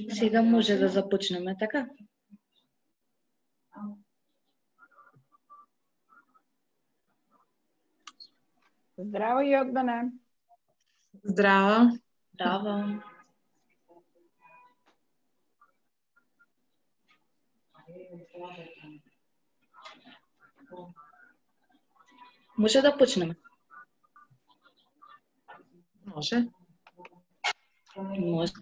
Сега може да започнеме, така? Здраво, Јордане. Здраво. Здраво. Може да почнеме? Може. Може.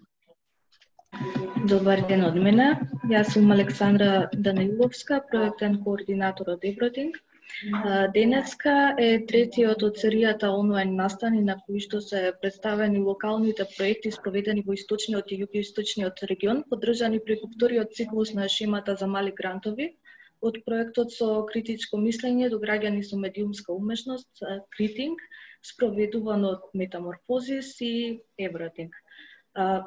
Добар ден од мене. Јас сум Александра Даниловска, проектен координатор од Евротинг. Денеска е третиот од серијата онлайн настани на кои што се представени локалните проекти спроведени во источниот и југоисточниот регион, поддржани преку вториот циклус на шемата за мали грантови, од проектот со критичко мислење до граѓани со медиумска умешност, Критинг, спроведуван од Метаморфозис и Евротинг.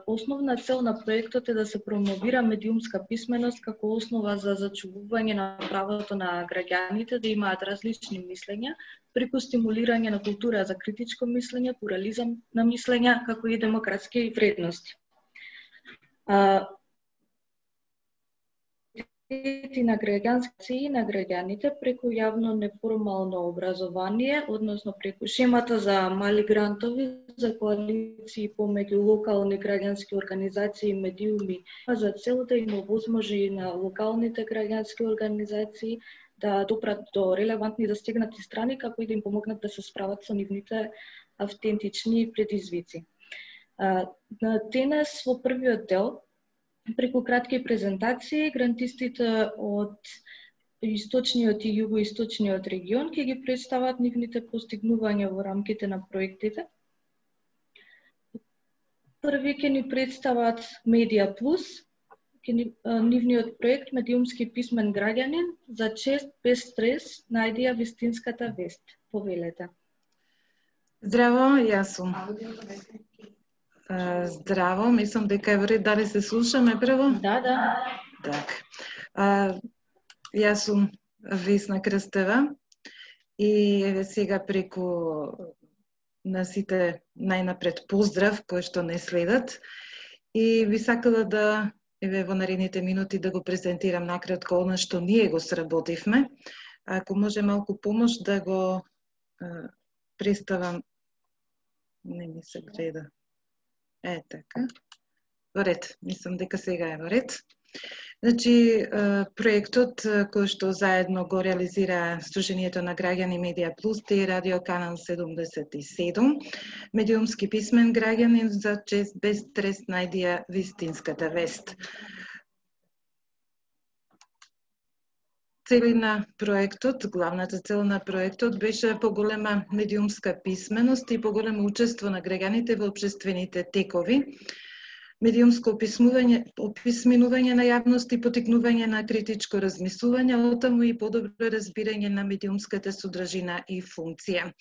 Основна цел на проектот е да се промовира медиумска писменост како основа за зачувување на правото на граѓаните да имаат различни мислења, преку стимулирање на култура за критичко мислење, плурализам на мислења, како и демократски вредности. На граѓански на граѓаните преку јавно неформално образование, односно преку шемата за мали грантови за коалиции помеѓу локални граѓански организации и медиуми, за цел да им овозможи на локалните граѓански организации да допрат до релевантни и застегнати страни, како и да им помогнат да се справат со нивните автентични предизвици. Денес во првиот дел, преку кратки презентации, грантистите од источниот и југоисточниот регион ќе ги представат нивните постигнувања во рамките на проектите. Први ќе ни представат Медиа Плюс, нивниот проект Медиумски писмен граѓанин за чест без стрес најдија вистинската вест. Повелете. Здраво, јас сум. Здраво, мислам дека е вред, дали се слушаме прво? Да. Так. Јас сум Весна Крстева и еве сега преку на сите најнапред поздрав кои што не следат и би сакала да еве во наредните минути да го презентирам накратко она што ние го сработивме. Ако може малку помош да го представам, не ми се гледа. Така. Во ред, мислам дека сега е во ред. Значи, проектот кој што заедно го реализира Сдруженијето на граѓани Медиа Плюс и Радио Канал 77, медиумски писмен граѓанин за чест без стрес најдија вистинската вест. Цели на проектот, главната цел на проектот беше поголема медиумска писменост и поголемо учество на граѓаните во општествените текови, медиумско описменување на јавност и потикнување на критичко размислување, отаму и подобро разбирање на медиумската содржина и функција.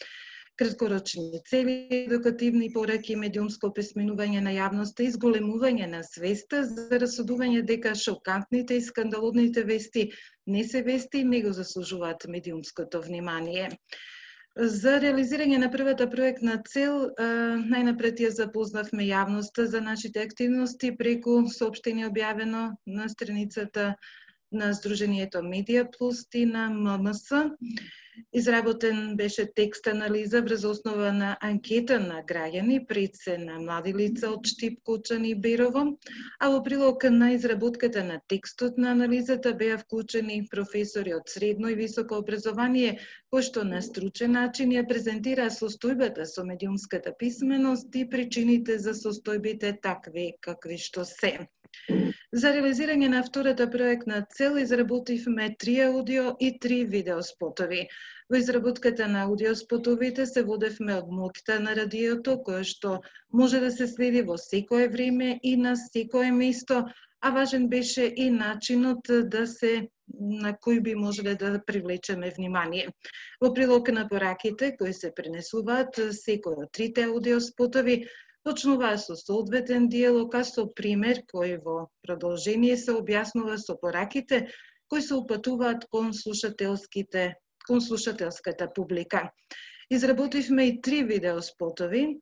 Краткорочни цели, едукативни пораки, медиумско описменување на јавноста и зголемување на свеста за расудување дека шокантните и скандалозните вести не се вести и не го заслужуваат медиумското внимание. За реализирање на првата проектна цел, најнапред ја запознавме јавноста за нашите активности преку соопштение објавено на страницата на Сдруженијето Медиа Плюс и на ММС. Изработен беше текст анализа врз основа на анкета на граѓани пред се на млади лица од Штип, Кучани и Берово, а во прилог на изработката на текстот на анализата беа вклучени професори од средно и високо образование, кои што на стручен начин ја презентираа состојбата со медиумската писменост и причините за состојбите такви какви што се. За реализирање на втората проектна цел изработивме 3 аудио и 3 видеоспотови. Во изработката на аудиоспотовите се водевме од моќта на радиото, кое што може да се следи во секое време и на секое место, а важен беше и начинот на кој би можеле да привлечеме внимание. Во прилог на пораките кои се пренесуваат, секој од 3 аудиоспотови почнуваа со соодветен диалог, а со пример кој во продолжение се објаснува со пораките кои се упатуваат кон слушателската публика. Изработивме и 3 видеоспотови.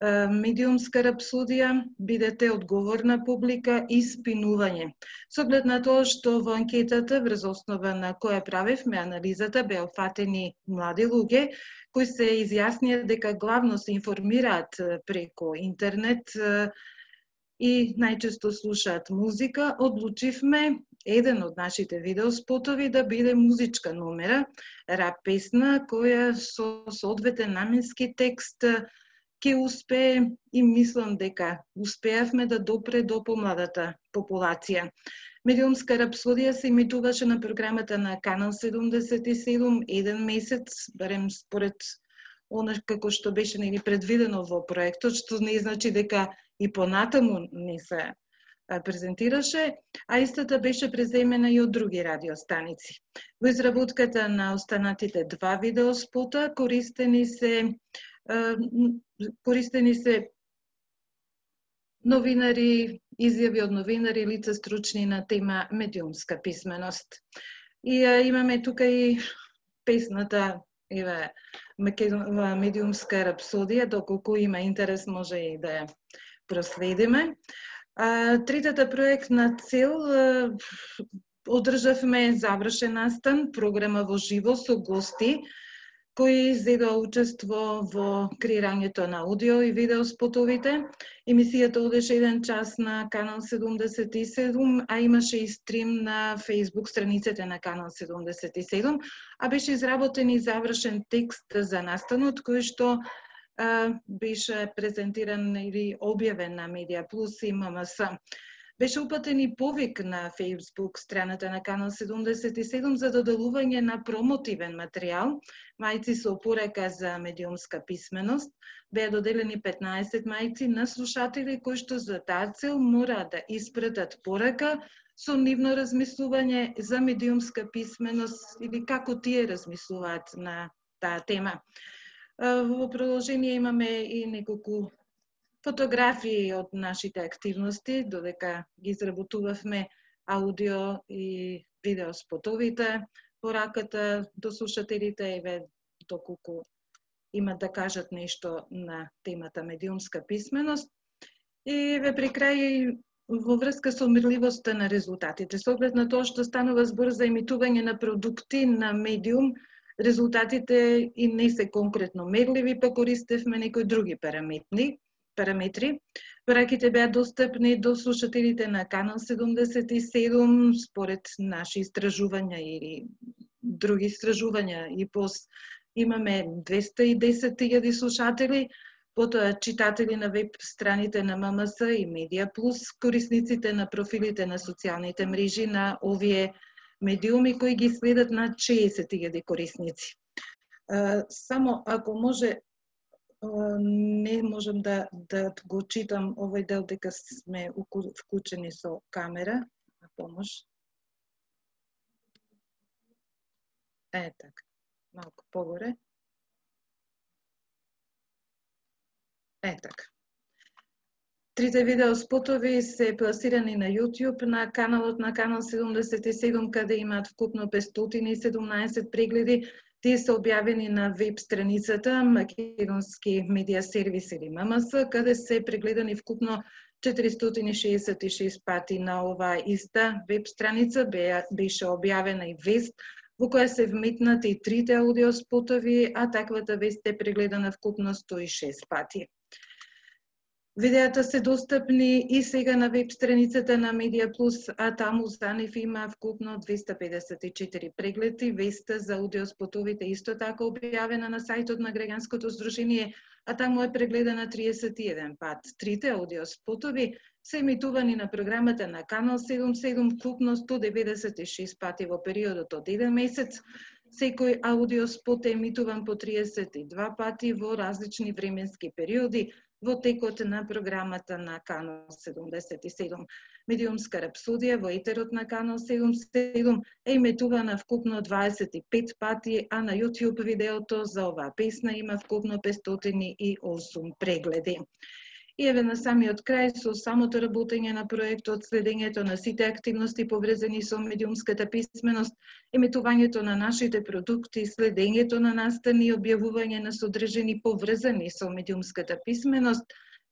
медиумска рапсодија, бидете одговорна публика и спинување. Со оглед на тоа што во анкетата, врз основа на која правевме анализата, беа опфатени млади луѓе, кои се изјаснија дека главно се информираат преко интернет и најчесто слушаат музика, одлучивме еден од нашите видеоспотови да биде музичка номера, рап песна, која со соодветен наменски текст ќе успее и мислам дека успеавме да допре до помладата популација. Медиумска рапсодија се емитуваше на програмата на Канал 77 еден месец, барем според она како што беше предвидено во проектот, што не значи дека и понатаму не се презентираше, а истата беше преземена и од други радиостаници. Во изработката на останатите два видеоспота користени се новинари, изјави од новинари, лица стручни на тема медиумска писменост. И имаме тука и песната медиумска рапсодија, доколку има интерес може и да ја проследиме. Третата проектна цел одржавме завршен настан, програма во живо со гости, кои зедоа учество во креирањето на аудио и видео спотовите. Емисијата одеше 1 час на Канал 77, а имаше и стрим на Facebook страниците на Канал 77, а беше изработен и завршен текст за настанот, кој што беше презентиран или објавен на Медиа Плюс и ММС. Беше упатен и повик на Facebook страната на Канал 77 за доделување на промотивен материјал, мајци со порака за медиумска писменост. Беа доделени 15 мајци на слушатели кои што за таа цел мора да испратат порака со нивно размислување за медиумска писменост или како тие размислуваат на таа тема. Во продолжение имаме и неколку фотографии од нашите активности, додека ги изработувавме аудио и видео спотовите, пораката до слушателите еве доколку имат да кажат нешто на темата медиумска писменост. И еве при крај во врска со мерливоста на резултатите, со оглед на тоа што станува збор за емитување на продукти на медиум, резултатите и не се конкретно мерливи, па користевме некои други параметри. Пораките беа достапни до слушателите на Канал 77 според наши истражувања или други истражувања и имаме 210.000 слушатели, потоа читатели на веб страните на ММС и Медиа Плюс, корисниците на профилите на социјалните мрежи на овие медиуми кои ги следат над 60.000 корисници. Само ако може, не можам да го читам овој дел дека сме вклучени со камера, на помош. Така, малку погоре. Така. Трите видеоспотови се пласирани на YouTube на каналот на Канал 77, каде имаат вкупно 517 прегледи. Тие се објавени на веб страницата Македонски медија сервис или ММС, каде се прегледани вкупно 466 пати. На оваа иста веб страница беше објавена и вест во која се вметнати и трите аудиоспотови, а таквата вест е прегледана вкупно 106 пати. Видеата се достапни и сега на веб страницата на Медиа Плюс, а таму за нив има вкупно 254 прегледи. Веста за аудиоспотовите исто така објавена на сајтот на Граѓанското здружение, а таму е прегледана 31 пат. Трите аудиоспотови се емитувани на програмата на Канал 77 вкупно 196 пати во периодот од 1 месец. Секој аудиоспот е емитуван по 32 пати во различни временски периоди во текот на програмата на Канал 77. Медиумска рапсодија во етерот на Канал 77 е емитувана вкупно 25 пати, а на YouTube видеото за оваа песна има вкупно 508 прегледи. И еве на самиот крај со самото работење на проектот, следењето на сите активности поврзани со медиумската писменост, емитувањето на нашите продукти, следењето на настани и објавување на содржини поврзани со медиумската писменост,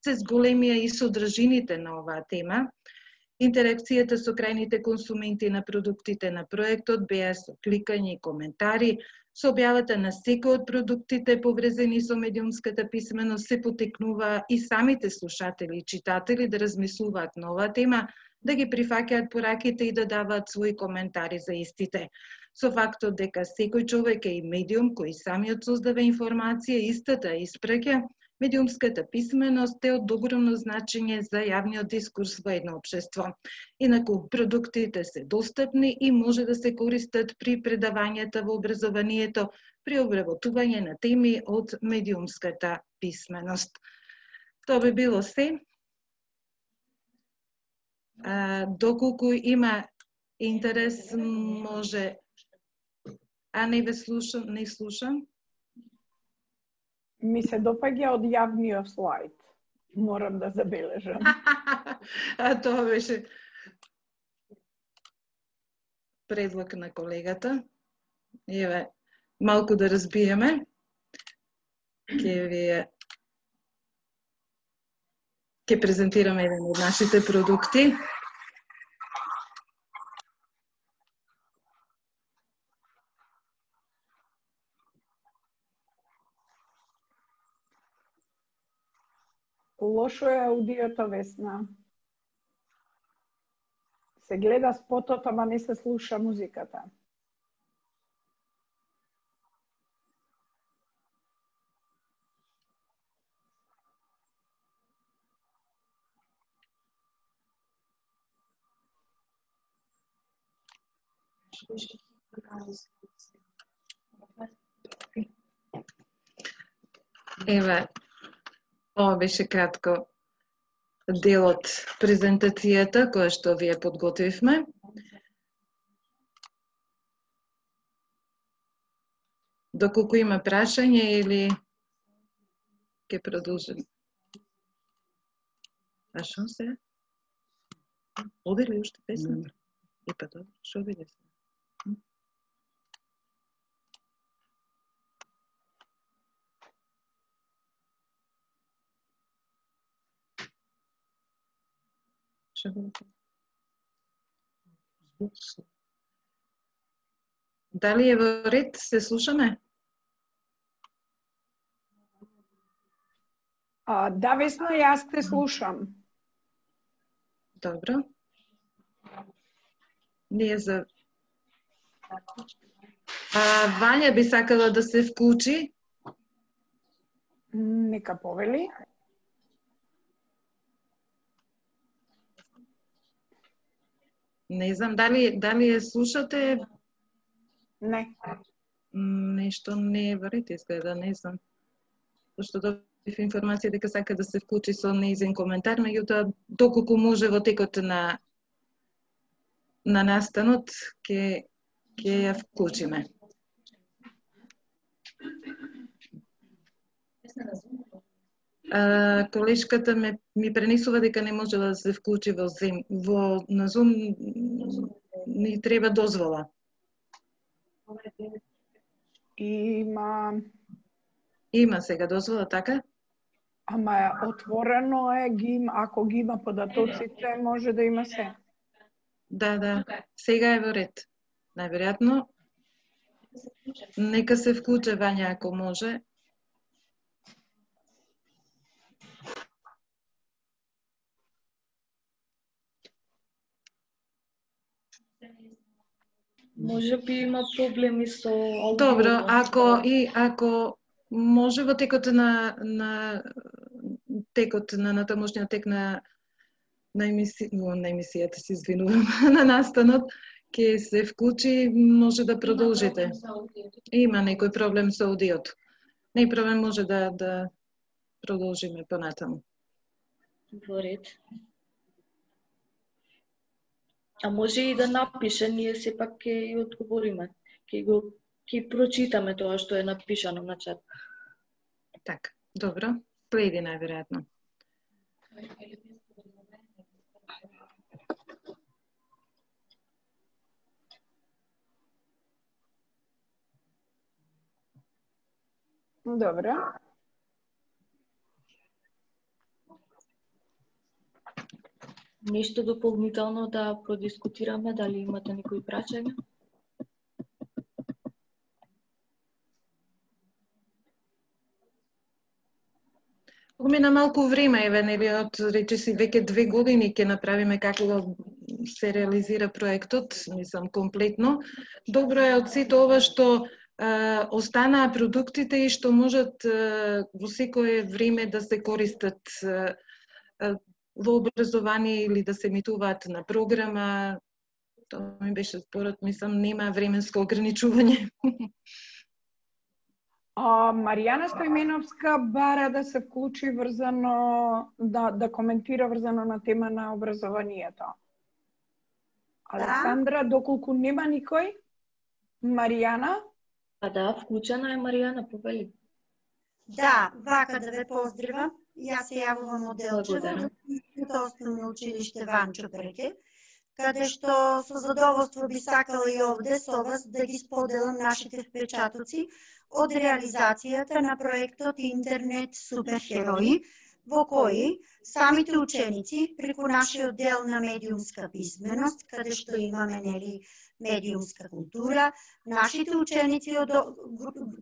се зголемија и содржините на оваа тема. Интеракцијата со крајните консументи на продуктите на проектот беа со кликање и коментари, со објавата на секој од продуктите поврзани со медиумската писменост се потекнуваа и самите слушатели и читатели да размислуваат на оваа тема, да ги прифаќаат пораките и да даваат своји коментари за истите. Со фактот дека секој човек е и медиум кој самиот создава информација, истата испраќа, медиумската писменост е од огромно значење за јавниот дискурс во едно општество. Инаку, продуктите се достапни и може да се користат при предавањата во образованието, при обработување на теми од медиумската писменост. Тоа би било се. Доколку има интерес, може... не ве слушам, не слушам. Ми се допаѓа од јавниот слайд. Морам да забележам. Тоа беше предлог на колегата. Еве, малку да разбиеме. Ќе презентираме еден од нашите продукти. Лошо е аудиото, Весна. Се гледа спотот, ама не се слуша музиката. Еве, ова беше кратко дел од презентацијата која што вие подготвивме. Доколку има прашање или ќе продолжим? А шо се? Оди ли уште песна? И па добро, шо биде се? Дали е во ред? Се слушаме? Да, Весна, јас те слушам. Добро. Ние за... Вања би сакала да се вклучи. Нека повели. Не знам, дали ја слушате? Не. Нешто не е во ред, изгледа, не знам. Пошто добив информација дека сака да се вклучи со нејзин коментар, меѓутоа, доколку може во текот на настанот, ќе ја вклучиме. Колешката ми пренесува дека не можела да се вклучи на Zoom, ни треба дозвола. Има сега дозвола, така? Ама отворено е, ако ги има податоците, може да има се. Да, сега е во ред. Најверојатно, нека се вклуче Вања ако може. Може би има проблеми со аудиото. Добро, ако може во текот на тамошниот тек на емисијата, се извинувам, на настанот, ќе се вклучи, може да продолжите. Има некој проблем со аудиото. Не е проблем, може да продолжиме понатаму. Во ред. А може и да напише, ние сепак ќе одговориме. Ќе прочитаме тоа што е напишано на чат. Така, добро. Следи најверојатно. Добре. Нешто дополнително да продискутираме, дали имате некои прашања? Помина малку време, еве, нели, од речиси веќе 2 години ќе направиме како да се реализира проектот, мислам комплетно. Добро е од сето ова што останаа продуктите и што можат во секое време да се користат во образование или да се емитуваат на програма. Тоа ми беше според, мислам, нема временско ограничување. Маријана Стојменовска бара да се вклучи врзано, да коментира врзано на тема на образованието. Александра, доколку нема никој? Маријана? Па да, вклучена е Маријана, повели. Да, вака да ве поздравам. Јас се јавувам од Делчево, од Основно училиште Ванчо Преке, каде што со задоволство би сакала и овде со вас да ги споделам нашите впечатоци од реализацијата на проектот Интернет Суперхерои, во кои самите ученици преку нашиот дел на медиумска писменост, каде што имаме медиумска култура, нашите ученици од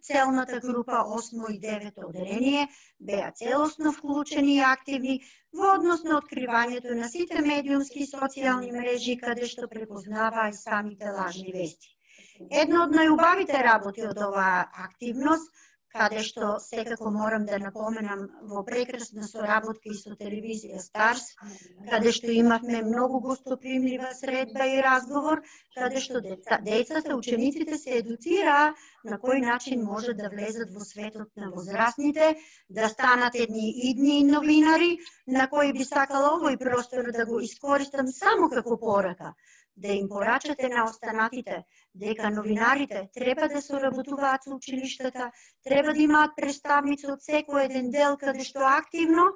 целната група 8 и 9 оделение беа целосно вклучени и активни во однос на откривањето на сите медиумски и социјални мрежи, каде што препознаваа и самите лажни вести. Едно од најубавите работи од оваа активност, каде што секако морам да напоменам во прекрасна соработка и со телевизија Старс, каде што имавме многу гостопримлива средба и разговор, каде што децата, учениците се едуцираа на кој начин може да влезат во светот на возрастните, да станат едни идни новинари, на кои би сакала овој простор да го искористам само како порака, да им порачате на останатите дека новинарите треба да соработуваат со училиштата, треба да имаат представници од секој еден дел каде што активно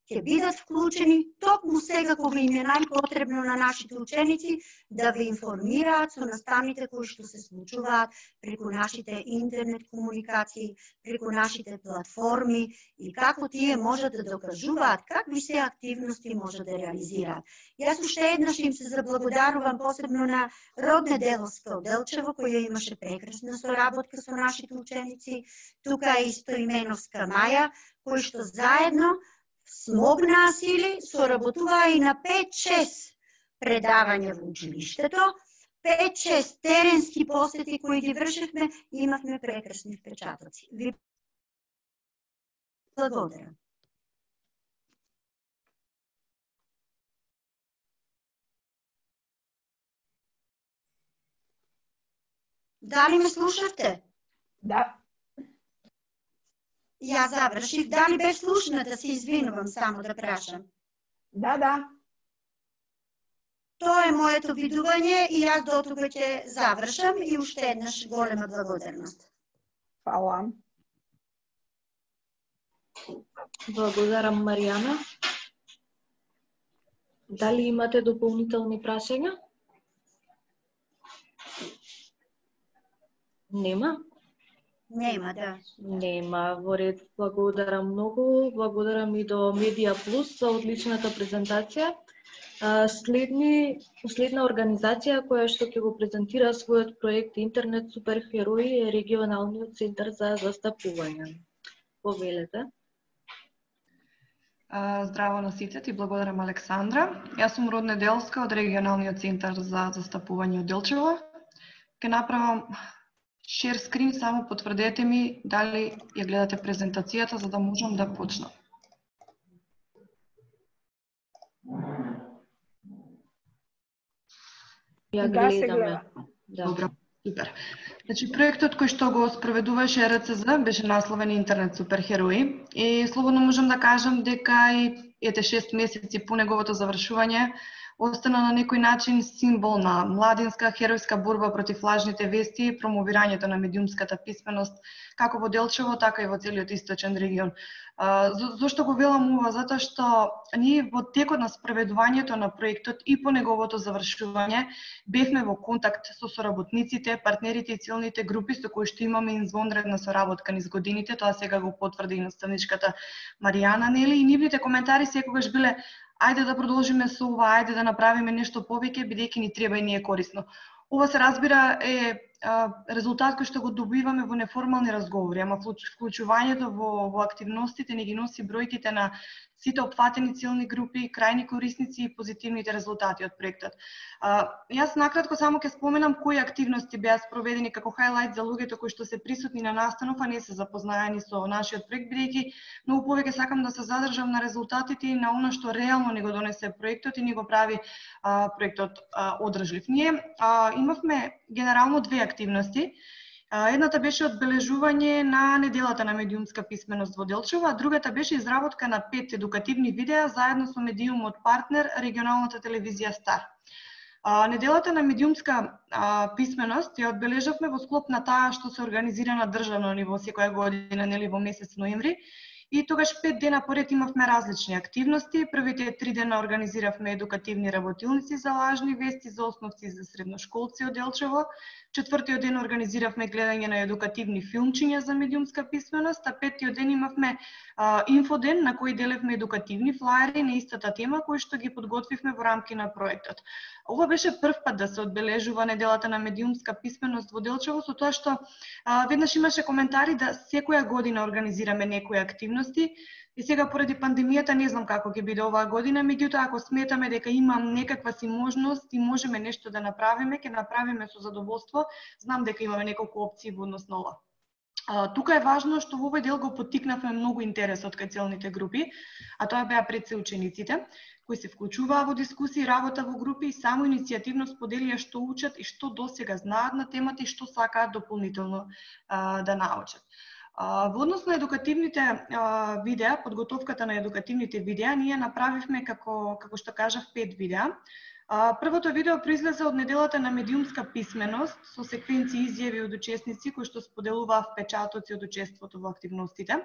ќе бидат вклучени токму сега кога им е најпотребно на нашите ученици да ве информираат со наставните кои што се случуваат преку нашите интернет комуникации, преку нашите платформи и како тие можат да докажуваат какви се активности може да реализираат. Јас уште еднаш им се заблагодарувам посебно на Родне Деловска од Делчево, која имаше прекрасна соработка со нашите ученици, тука и Стојменовска Маја, кои што заедно смогнаа сили, соработуваа и на 5-6 предавања во училиштето, 5-6 теренски посети кои ги вршевме и имавме прекрасни впечатоци. Ви благодарам. Дали ме слушавте? Да. Ја завршив. Дали бе слушната? Се извинувам само да прашам. Да. Тоа е моето видување и јас до тука ќе завршам и уште еднаш голема благодарност. Фала. Благодарам, Маријана. Дали имате дополнителни прашања? Нема? Нема, да. Нема, во ред. Благодарам многу. Благодарам и до Медија Плюс за одличната презентација. Следна организација која што ќе го презентира својот проект Интернет Суперхерои е Регионалниот центар за застапување. Повелете. Здраво на сите, ти благодарам Александра. Јас сум Родне Деловска од Регионалниот центар за застапување од Делчево. Ке направам share screen, само потврдете ми дали ја гледате презентацијата за да можам да почнам. Ја гледаме. Добро, супер. Значи, проектот кој што го спроведуваше РЦЗ беше насловен Интернет Суперхерои и слободно можам да кажам дека и ете 6 месеци по неговото завршување остана на некој начин символ на младинска херојска борба против лажните вести и промовирањето на медиумската писменост како во Делчево, така и во целиот источен регион. Зошто го велам ова? Затоа што ние во текот на спроведувањето на проектот и по неговото завршување бевме во контакт со соработниците, партнерите и целните групи со кои што имаме извонредна соработка низ годините. Тоа сега го потврди и наставничката Маријана, нели? И нивните коментари секогаш биле: ајде да продолжиме со ова, ајде да направиме нешто повеќе, бидејќи ни треба и ни е корисно. Ова се разбира е резултат кој што го добиваме во неформални разговори, ама вклучувањето во активностите не ги носи бројките на сите опфатени целни групи, крајни корисници и позитивните резултати од проектот. Јас накратко само ќе споменам кои активности беа спроведени како хайлайт за луѓето кои што се присутни на настанов, а не се запознаени со нашиот проект, бидејќи многу повеќе сакам да се задржам на резултатите и на она што реално ни го донесе проектот и ни го прави проектот одржлив. Ние имавме генерално две активности. Едната беше одбележување на неделата на медиумска писменост во Делчево, а другата беше изработка на 5 едукативни видеа заедно со медиумот партнер регионалната телевизија Стар. Неделата на медиумска писменост ја одбележавме во склоп на таа што се организира на државно ниво секоја година, нели, во месец ноември. И тогаш 5 дена поред имавме различни активности. Првите 3 дена организиравме едукативни работилници за лажни вести за основци и за средношколци од Делчево. Четвртиот ден организиравме гледање на едукативни филмчиња за медиумска писменост, а петтиот ден имавме инфоден на кој делевме едукативни флаери на истата тема кои што ги подготвивме во рамки на проектот. Ова беше прв пат да се одбележува неделата на медиумска писменост во Делчево, со тоа што веднаш имаше коментари да секоја година организираме некои активности. И сега поради пандемијата не знам како ќе биде оваа година, меѓутоа ако сметаме дека имам некаква си можност и можеме нешто да направиме, ќе направиме со задоволство. Знам дека имаме неколку опции во однос на ова. Тука е важно што во овој дел го поттикнавме многу интересот кај целните групи, а тоа беа пред се учениците, кои се вклучуваа во дискусии, работа во групи и само иницијативно споделија што учат и што досега знаат на темата и што сакаат дополнително да научат. Во однос на едукативните видеа, подготовката на едукативните видеа, ние направивме, како што кажав, 5 видеа. Првото видео произлезе од неделата на медиумска писменост со секвенции изјави од учесници кои што споделуваа впечатоци од учеството во активностите.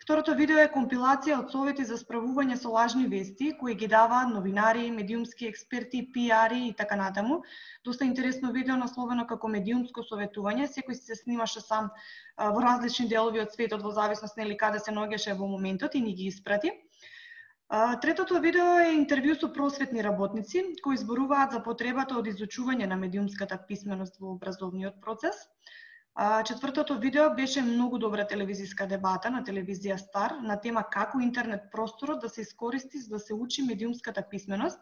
Второто видео е компилација од совети за справување со лажни вести, кои ги даваат новинари, медиумски експерти, пиари и така натаму. Доста интересно видео насловено како медиумско советување, секој се снимаше сам во различни делови од светот во зависност нели каде се наоѓаше во моментот и ни ги испрати. Третото видео е интервју со просветни работници кои зборуваат за потребата од изучување на медиумската писменост во образовниот процес. Четвртото видео беше многу добра телевизиска дебата на телевизија Стар на тема како интернет просторот да се искористи за да се учи медиумската писменост.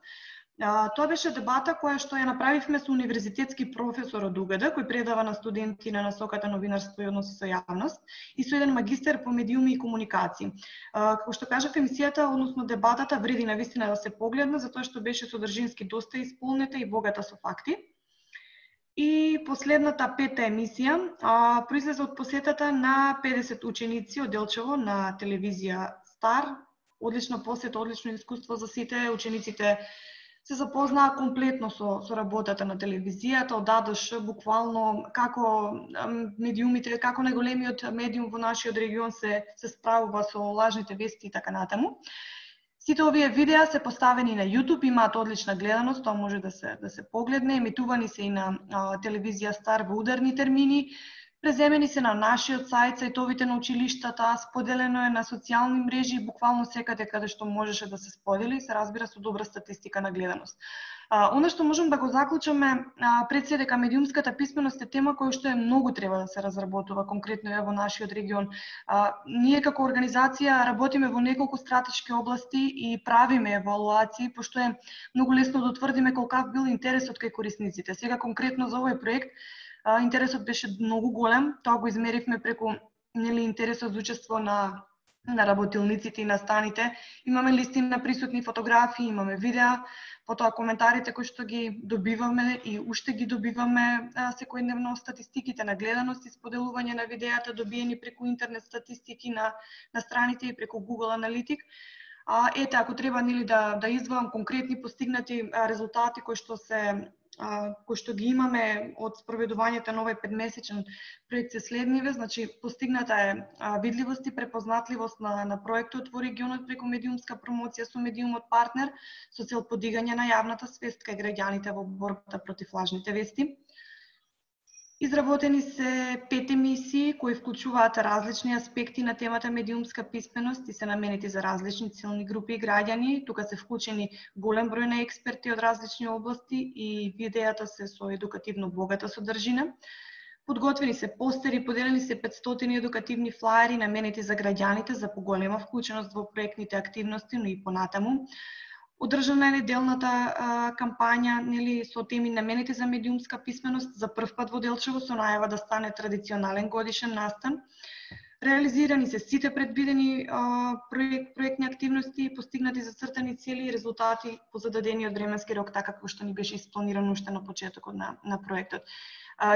Тоа беше дебата која што ја направивме со универзитетски професор од УГД, кој предава на студенти на насоката новинарство и односи со јавност, и со еден магистер по медиуми и комуникации. Како што кажав, емисијата, односно дебатата, вреди навистина да се погледне, затоа што беше содржински доста исполнета и богата со факти. И последната 5-та емисија произлезе од посетата на 50 ученици од Делчево на телевизија Стар. Одлична посета, одлично искуство за сите. Учениците се запознаа комплетно со работата на телевизијата, од А до Ш, буквално како медиумите, како најголемиот медиум во нашиот регион се справува со лажните вести и така натаму. Сите овие видеа се поставени на YouTube, имаат одлична гледаност, тоа може да се погледне, емитувани се и на телевизија Стар во ударни термини, преземени се на нашиот сајт, сајтовите на училиштата, споделено е на социјални мрежи, буквално секаде каде што можеше да се сподели, се разбира со добра статистика на гледаност. Оно што можам да го заклучаме пред се дека медиумската писменост е тема која што многу треба да се разработува конкретно во нашиот регион. Ние како организација работиме во неколку стратешки области и правиме евалуации, пошто е многу лесно да утврдиме колкав бил интересот кај корисниците. Сега конкретно за овој проект интересот беше многу голем, тоа го измеривме преку интересот за учество на работилниците и на станите. Имаме листи на присутни фотографии, имаме видеа, потоа коментарите кои што ги добиваме и уште ги добиваме секојдневно, статистиките на гледаност и споделување на видеата добиени преку интернет статистики на страните и преку Google Аналитик. Ете, ако треба нели да издвоам конкретни постигнати резултати кои што ги имаме од спроведувањето на овој 5-месечен проект се следниве. Значи, постигната е видливост и препознатливост на проектот во регионот преку медиумска промоција со медиумот партнер со цел подигање на јавната свест кај граѓаните во борбата против лажните вести. Изработени се 5 емисии кои вклучуваат различни аспекти на темата медиумска писменост и се наменети за различни целни групи и граѓани. Тука се вклучени голем број на експерти од различни области и видеата се со едукативно богата содржина. Подготвени се постери, поделени се 500 едукативни флаери наменети за граѓаните за поголема вклученост во проектните активности, но и понатаму. Одржана е неделната кампања со теми наменети за медиумска писменост за прв пат во Делчево со најава да стане традиционален годишен настан. Реализирани се сите предвидени проектни активности, постигнати зацртани цели и резултати по зададениот временски рок, така како што ни беше испланирано уште на почетокот на проектот.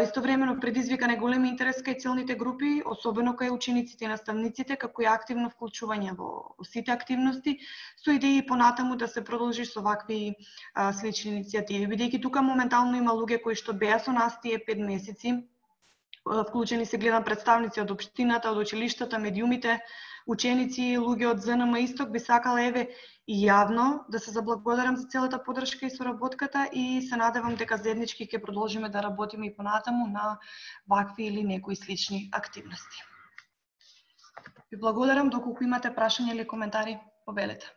Истовремено предизвикан е голем интерес кај целните групи, особено кај учениците и наставниците, како и активно вклучување во сите активности, со идеи понатаму да се продолжи со вакви слични иницијативи. Бидејќи тука моментално има луѓе кои што беа со нас тие 5 месеци, вклучени се гледам представници од општината, од училиштата, медиумите, ученици, луѓе од ЗНМ Исток, би сакала еве и јавно да се заблагодарам за целата поддршка и соработката и се надевам дека заеднички ќе продолжиме да работиме и понатаму на вакви или некои слични активности. Ви благодарам, доколку имате прашања или коментари, повелете.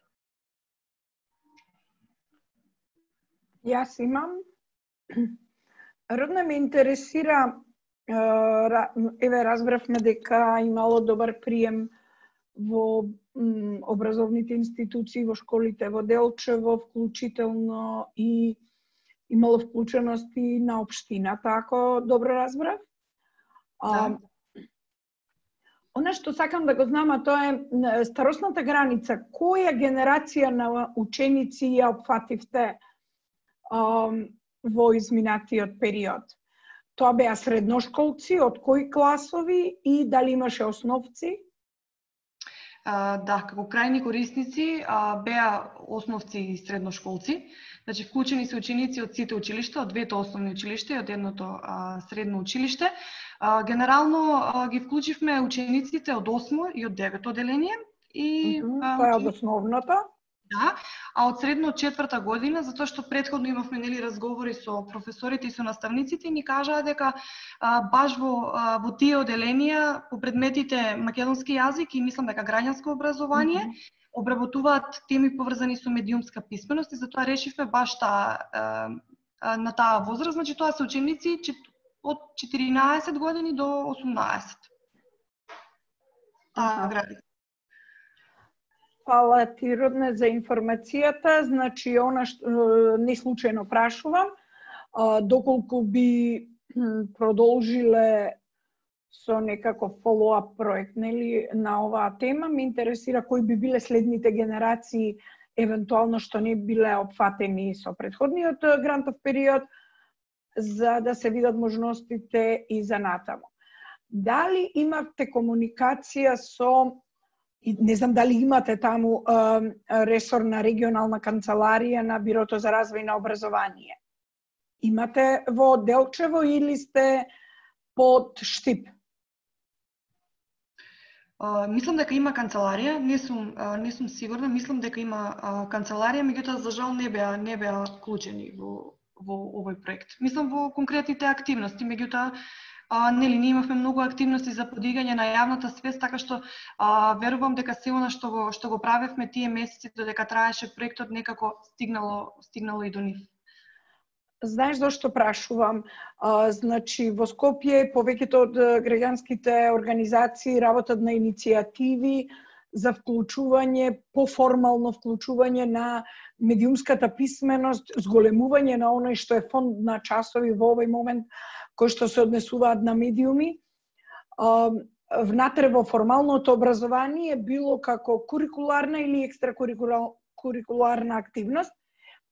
Јас имам. Родна ме интересира, еве разбравме дека имало добар прием во образовните институции, во школите во Делчево, вклучително и имало вклученост и на општината, ако добро разбрав. Да. Она што сакам да го знам, а тоа е старосната граница. Која генерација на ученици ја опфативте во изминатиот период? Тоа беа средношколци, од кои класови и дали имаше основци? Да, како крајни корисници беа основци и средношколци. Значи, вклучени се ученици од сите училишта, од двете основни училишта и од едното средно училиште. Генерално ги вклучивме учениците од 8 и од 9 оделение. Тоа е од основната? Да, а од средно 4-та година, затоа што претходно имавме разговори со професорите и со наставниците, ни кажаа дека баш во тие оделенија по предметите македонски јазик и мислам дека граѓанско образование обработуваат теми поврзани со медиумска писменост и затоа решивме баш на таа возраст, значи тоа се ученици од 14 години до 18. Таа граница. Фала ти, Родне, за информацијата. Значи, она што не случајно прашувам, доколку би продолжиле со некаков follow-up проект на оваа тема, ме интересира кои би биле следните генерации, евентуално што не биле опфатени со претходниот грантов период, за да се видат можностите и за натаму. Дали имавте комуникација со, не знам дали имате таму ресорна регионална канцеларија на Бирото за развој на образование? Имате во Делчево или сте под Штип? Мислам дека има канцеларија, не сум сигурна, мислам дека има канцеларија, меѓутоа за жал не беа вклучени во овој проект. Мислам во конкретните активности, меѓутоа ние имавме многу активности за подигање на јавната свест, така што верувам дека се она што го правевме тие месеци додека траеше проектот некако стигнало и до нив. Знаеш зашто прашувам? Значи, во Скопје повеќето од граѓанските организации работат на иницијативи за вклучување, поформално вклучување на медиумската писменост, зголемување на оној што е фонд на часови во овој момент кои што се однесуваат на медиуми. Внатре во формалното образование било како курикуларна или екстракурикуларна активност.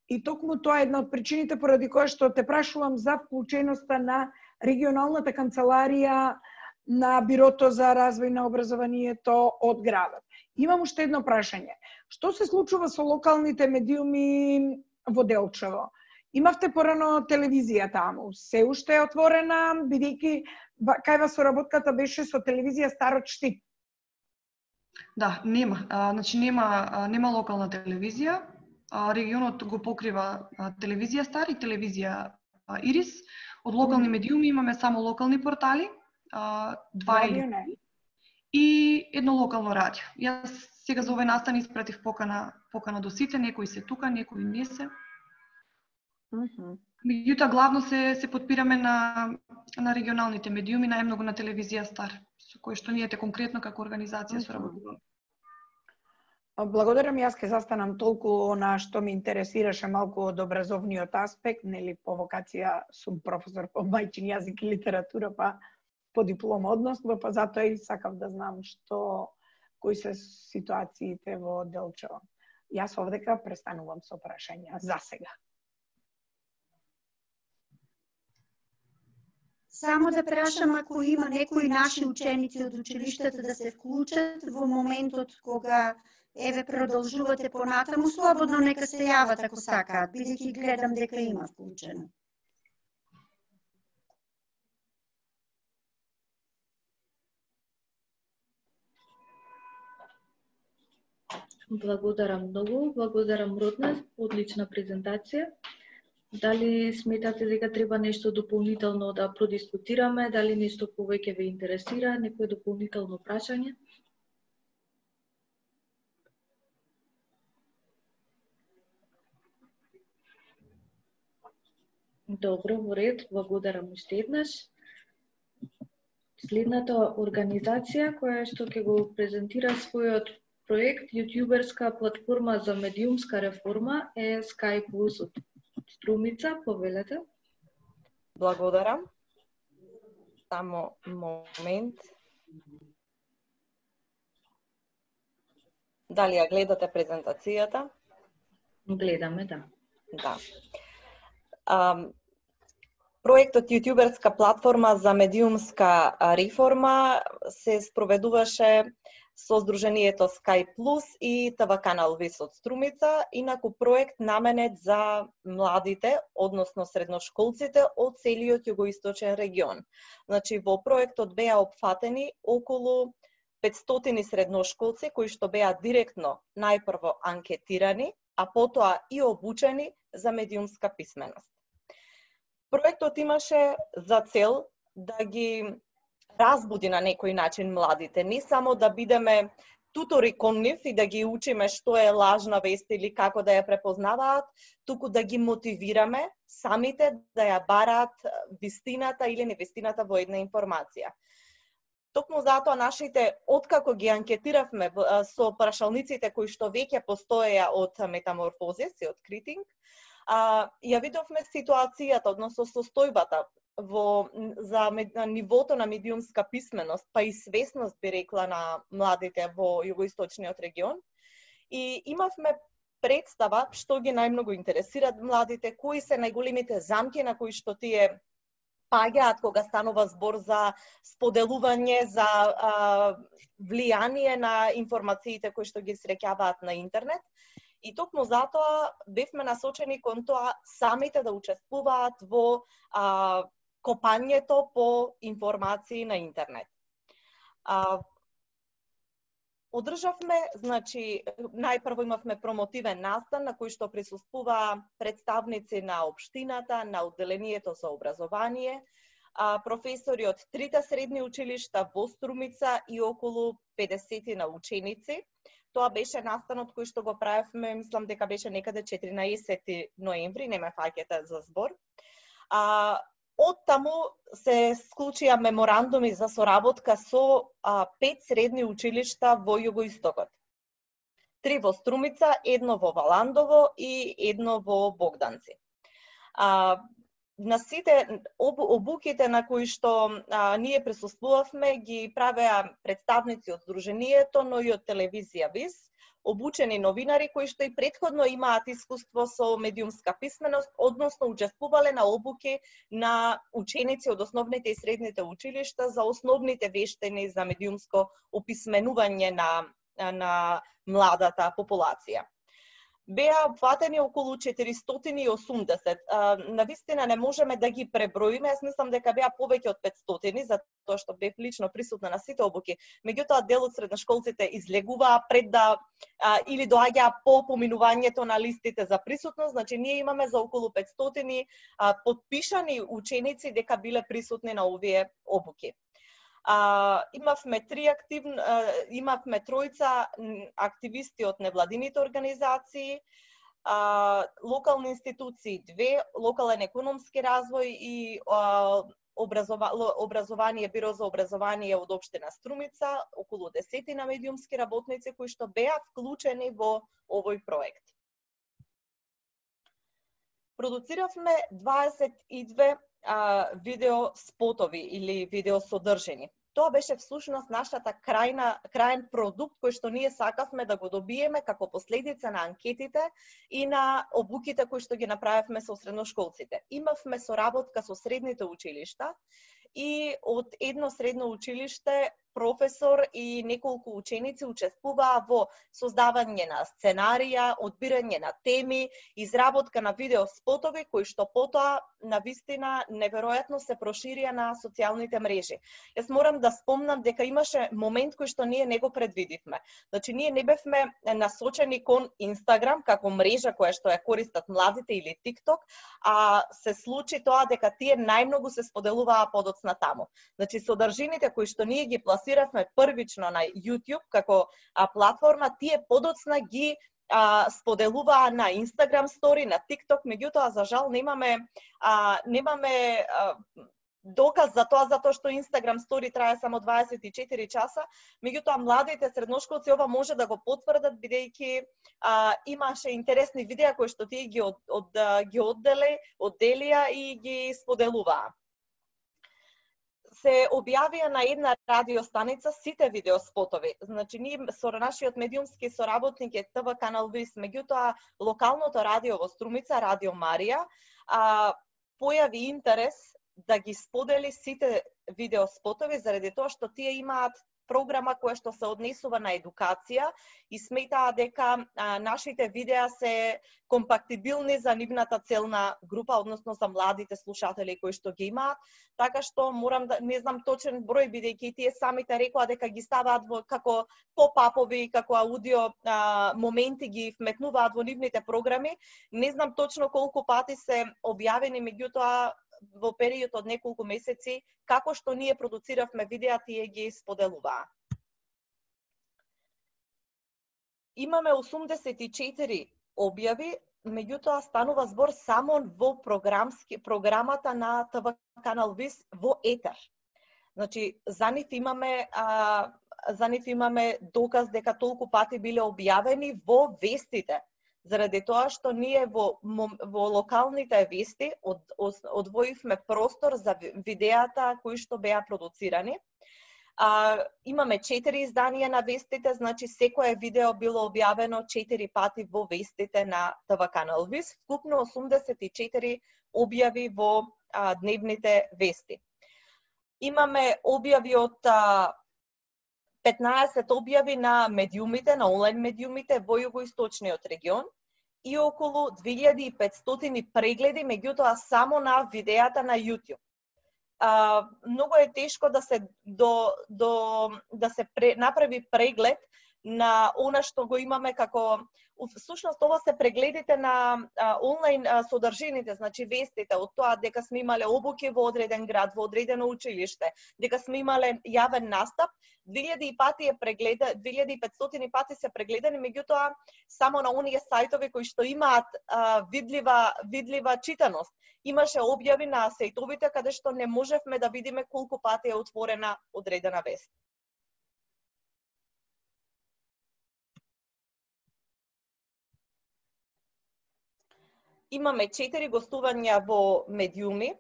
И токму тоа е една од причините поради која што те прашувам за вклученоста на регионалната канцеларија на Бирото за развој на образованието од градот. Имам уште едно прашање. Што се случува со локалните медиуми во Делчево? Имавте порано телевизија таму, се уште е отворена, бидејќи кај вас соработката беше со телевизија Старот Штип. Да, нема. Значи нема локална телевизија. Регионот го покрива телевизија Стар и телевизија Ирис. Од локални медиуми имаме само локални портали, два или и едно локално радио. Јас сега за овој настан испратив покана до сите, некои се тука, некои не се. Меѓутоа главно се подпираме на регионалните медиуми, најмногу на телевизија Стар, со кој што ние конкретно како организација соработуваме. Благодарам, јас ке застанам толку на што ми интересираше малку од образовниот аспект, нели по вокација сум професор по мајчин јазик и литература, па по диплома односно, па затоа и сакав да знам кои се ситуациите во Делчево. Јас овдека престанувам со прашања за сега. Само да прашам ако има некои наши ученици од училиштата да се вклучат во моментот кога продолжувате понатаму, слободно нека се јават ако сакаат, бидејќи гледам дека има вклучено. Благодарам многу, благодарам Родна, одлична презентација. Дали сметате дека треба нешто дополнително да продискутираме, дали нешто повеќе ве интересира, некое дополнително прашање? Добро, во ред, благодарам уште еднаш. Следната организација која што ќе го презентира својот проект јутјуберска платформа за медиумска реформа е Sky Plus од Струмица, повелете. Благодарам. Само момент. Дали ја гледате презентацијата? Гледаме, да. Да. Проектот јутјуберска платформа за медиумска реформа се спроведуваше со Сдруженијето Sky Plus и ТВ канал Вес од Струмица, инаку проект наменет за младите, односно средношколците од целиот југоисточен регион. Значи, во проектот беа опфатени околу 500 средношколци кои што беа директно најпрво анкетирани, а потоа и обучени за медиумска писменост. Проектот имаше за цел да ги разбуди на некој начин младите, не само да бидеме тутори кон нив и да ги учиме што е лажна вест или како да ја препознаваат, туку да ги мотивираме самите да ја бараат вистината или невистината во една информација. Токму затоа нашите, откако ги анкетиравме со прашалниците кои што веќе постоеја од Метаморфозис и од Критинг, ја видовме ситуацијата, односно состојбата за нивото на медиумска писменост, па и свесност, би рекла, на младите во југоисточниот регион. И имавме представа што ги најмногу интересираат младите, кои се најголемите замки на кои што тие паѓаат кога станува збор за споделување, за влијание на информациите кои што ги среќаваат на интернет. И токму затоа бевме насочени кон тоа самите да учествуваат во копањето по информации на интернет. Одржавме, значи, најпрво имавме промотивен настан на кој што присуствуваа представници на општината, на одделението за образование, професори од трите средни училишта во Струмица и околу 50 на ученици. Тоа беше настанот кој што го правевме, мислам дека беше некаде 14 ноември, не ме фаќате за збор. Од таму се склучија меморандуми за соработка со 5 средни училишта во југоистокот. 3 во Струмица, 1 во Валандово и 1 во Богданци. На сите обуките на кои што ние присуствувавме ги правеа представници од Сдруженијето, но и од телевизија Вис, обучени новинари кои што и претходно имаат искуство со медиумска писменост, односно учествувале на обуки на ученици од основните и средните училишта за основните вештини за медиумско описменување на на младата популација. Беа опфатени околу 480. Навистина не можеме да ги преброиме, јас мислам дека беа повеќе од 500, затоа што бев лично присутна на сите обуки. Меѓутоа, дел од средношколците излегуваа пред да или доаѓаа по поминувањето на листите за присутност, значи ние имаме за околу 500 подпишани ученици дека биле присутни на овие обуки. Имавме тројца активисти од невладините организации, локални институции 2, локален економски развој и образование, Биро за образование од општина Струмица, околу 10 медиумски работници кои што беа вклучени во овој проект. Продуциравме 22 видео спотови или видео содржини. Тоа беше всушност нашата крајен продукт кој што ние сакавме да го добиеме како последица на анкетите и на обуките кои што ги направивме со средношколците. Имавме соработка со средните училишта и од едно средно училиште професор и неколку ученици учествуваа во создавање на сценарија, одбирање на теми, изработка на видео спотови кои што потоа навистина неверојатно се проширија на социјалните мрежи. Јас морам да спомнам дека имаше момент кој што ние не го предвидивме. Значи ние не бевме насочени кон Инстаграм како мрежа која што ја користат младите или TikTok, а се случи тоа дека тие најмногу се споделуваа подоцна таму. Значи содржините кои што ние ги пласиравме првично на YouTube како платформа, тие подоцна ги споделуваа на Instagram Story, на TikTok, меѓутоа за жал немаме доказ за тоа, затоа што Instagram Story трае само 24 часа, меѓутоа младите средношколци ова може да го потврдат, бидејќи имаше интересни видеа кои што тие ги одделија и ги споделуваа. Се објавија на една радиостаница сите видеоспотови. Значи, ние со нашиот медиумски соработник е ТВ Канал Вис, меѓутоа локалното радио во Струмица, Радио Марија, појави интерес да ги сподели сите видеоспотови заради тоа што тие имаат програма која што се однесува на едукација и сметаа дека нашите видеа се компактибилни за нивната целна група, односно за младите слушатели кои што ги имаат, така што морам да не знам точен број, бидејќи тие самите рекоа дека ги ставаат во како поп-апови, како аудио моменти ги вметнуваат во нивните програми. Не знам точно колку пати се објавени, меѓутоа во период од неколку месеци, како што ние продуциравме видеа, тие ги споделуваа. Имаме 84 објави, меѓутоа станува збор само во програмата на ТВ Канал Вис во етер. Значи, за нив имаме доказ дека толку пати биле објавени во вестите. Заради тоа што ние во локалните вести одвоивме простор за видеата кои што беа продуцирани. Имаме 4 изданија на вестите, значи секое видео било објавено 4 пати во вестите на ТВ Канал Вис, вкупно 84 објави во дневните вести. Имаме објави од 15 објави на медиумите, на онлайн медиумите во југоисточниот регион и околу 2500 прегледи, меѓутоа само на видеата на YouTube. Многу е тешко да се направи преглед на она што го имаме како всушност ова се прегледите на онлайн содржините, значи вестите од тоа дека сме имале обуки во одреден град, во одредено училиште, дека сме имале јавен настап, 2500 пати се прегледани, меѓутоа само на оние сајтови кои што имаат видлива читаност. Имаше објави на сајтовите каде што не можевме да видиме колку пати е отворена одредена вест. Имаме 4 гостувања во медиуми,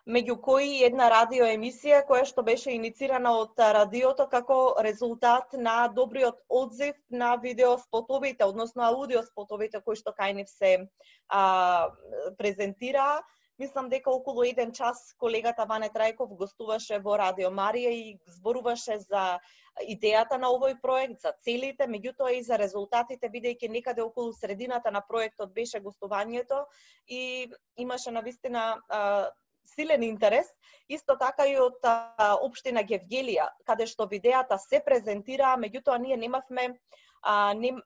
меѓу кои една радиоемисија која што беше иницирана од радиото како резултат на добриот одзив на видеоспотовите, односно аудиоспотовите кои што кај нив се презентираа. Мислам дека околу 1 час колегата Ване Трајков гостуваше во Радио Марија и зборуваше за идејата на овој проект, за целите, меѓутоа и за резултатите, бидејќи некаде околу средината на проектот беше гостувањето и имаше навистина силен интерес. Исто така и од општина Гевгелија, каде што видеата се презентираа, меѓутоа ние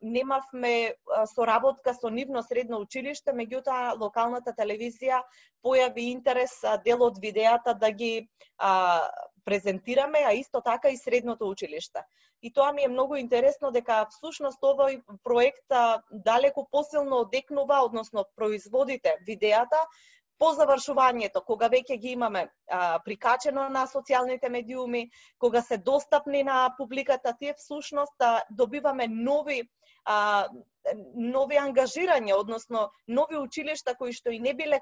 немавме соработка со нивно средно училиште, меѓутоа локалната телевизија појави интерес дел од видеата да ги презентираме, а исто така и средното училиште. И тоа ми е многу интересно дека всушност овој проект далеко посилно одекнува, односно производите видеата по завршувањето, кога веќе ги имаме прикачено на социјалните медиуми, кога се достапни на публиката, тие всушност добиваме нови ангажирања, односно нови училишта кои што и не биле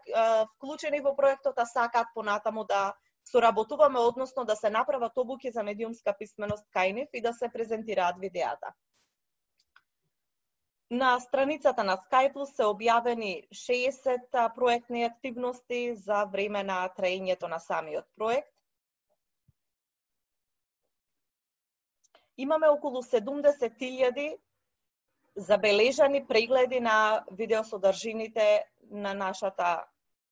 вклучени во проектот, а сакаат понатаму да соработуваме, односно да се направат обуки за медиумска писменост кај нив и да се презентираат видеата. На страницата на Skype се објавени 60 проектни активности за време на траењето на самиот проект. Имаме околу 70.000 забележани прегледи на видеосодржините на нашата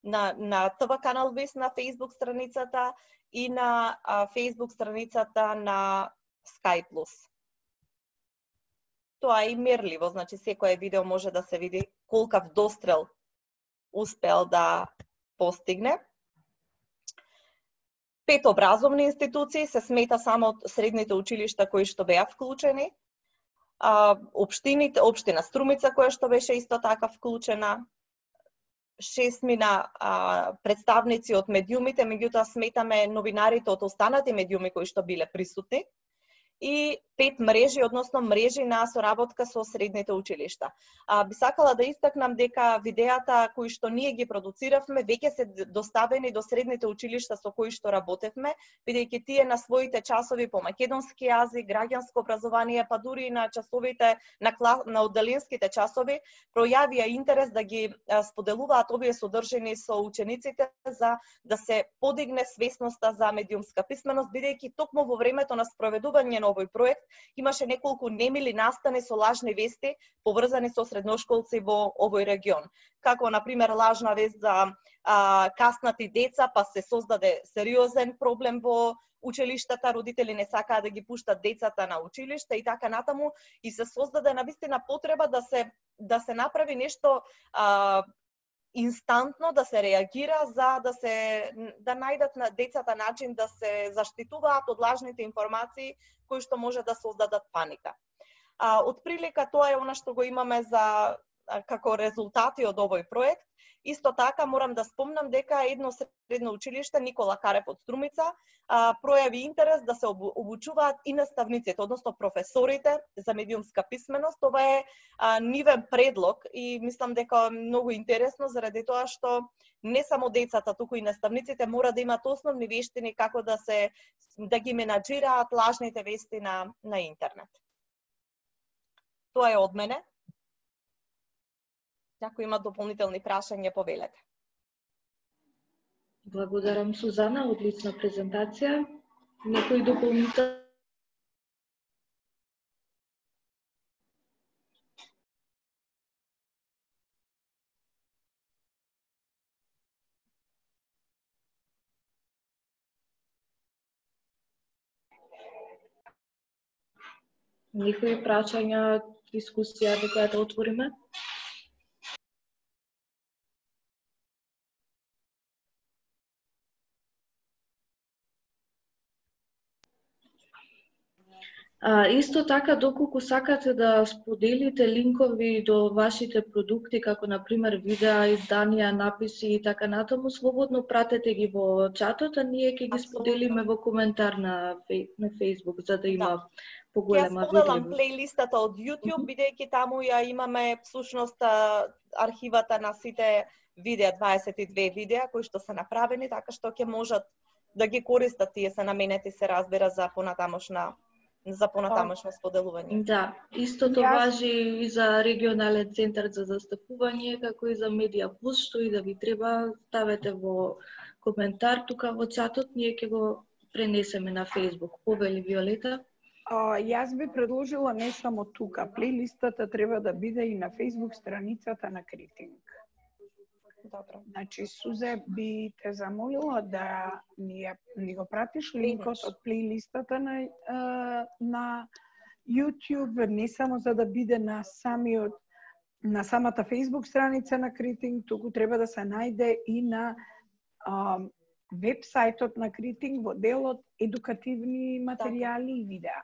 на ТВ канал Вес на Facebook страницата и на Facebook страницата на Skype+. Тоа е и мерливо, значи секое видео може да се види колкав дострел успел да постигне. 5 образовни институции се смета само од средните училишта кои што беа вклучени. Општина Струмица која што беше исто така вклучена. 6 мина представници од медиумите, меѓутоа сметаме новинарите од останати медиуми кои што биле присутни. И 5 мрежи, односно мрежи на соработка со средните училишта. Би сакала да истакнам дека видеата кои што ние ги продуциравме веќе се доставени до средните училишта со кои што работевме, бидејќи тие на своите часови по македонски јазик, граѓанско образование, па дури и на часовите на оддалинските часови пројавија интерес да ги споделуваат овие содржини со учениците за да се подигне свесноста за медиумска писменост, бидејќи токму во времето на спроведување на овој проект имаше неколку немили настани со лажни вести поврзани со средношколци во овој регион. Како, например, лажна вест за каснати деца, па се создаде сериозен проблем во училиштата, родители не сакаа да ги пуштат децата на училиште и така натаму, и се создаде навистина потреба да се направи нешто инстантно, да се реагира за да најдат на децата начин да се заштитуваат од лажните информации кои што може да создадат паника. Од прилика тоа е она што го имаме за како резултати од овој проект. Исто така морам да спомнам дека едно средно училиште Никола Карев од Струмица пројави интерес да се обучуваат и наставниците, односно професорите за медиумска писменост. Ова е нивен предлог и мислам дека е многу интересно заради тоа што не само децата, туку и наставниците мора да имаат основни вештини како да ги менаџираат лажните вести на интернет. Тоа е од мене. Ако има дополнителни прашања, повелете. Благодарам, Сузана, одлична презентација. Некои дополнителни? Некои прашања, дискусија до која да отвориме? Исто така, доколку сакате да споделите линкови до вашите продукти, како например видеа, изданија, написи и така натаму, слободно пратете ги во чатот, а ние ќе ги споделиме во коментар на Facebook, за да има поголема видливост. Ја споделам плейлистата од YouTube, бидејќи таму ја имаме всушност архивата на сите видеа, 22 видеа кои што се направени, така што ќе можат да ги користат, тие се наменети, се разбира, за понатамошна за понатамошно споделување. Да, истото важи и за регионален центар за застапување, како и за Медија Плюс, што и да ви треба, ставете во коментар тука во чатот, ние ќе го пренесеме на Facebook. Повели Виолета? Јас би предложила не само тука, плейлистата треба да биде и на Facebook страницата на Критинг. Добро. Значи, Сузе би те замолила да ни го пратиш линкот од плейлистата на YouTube, не само за да биде на самата Facebook страница на Критинг, туку треба да се најде и на вебсајтот на Критинг во делот едукативни материјали и видеа.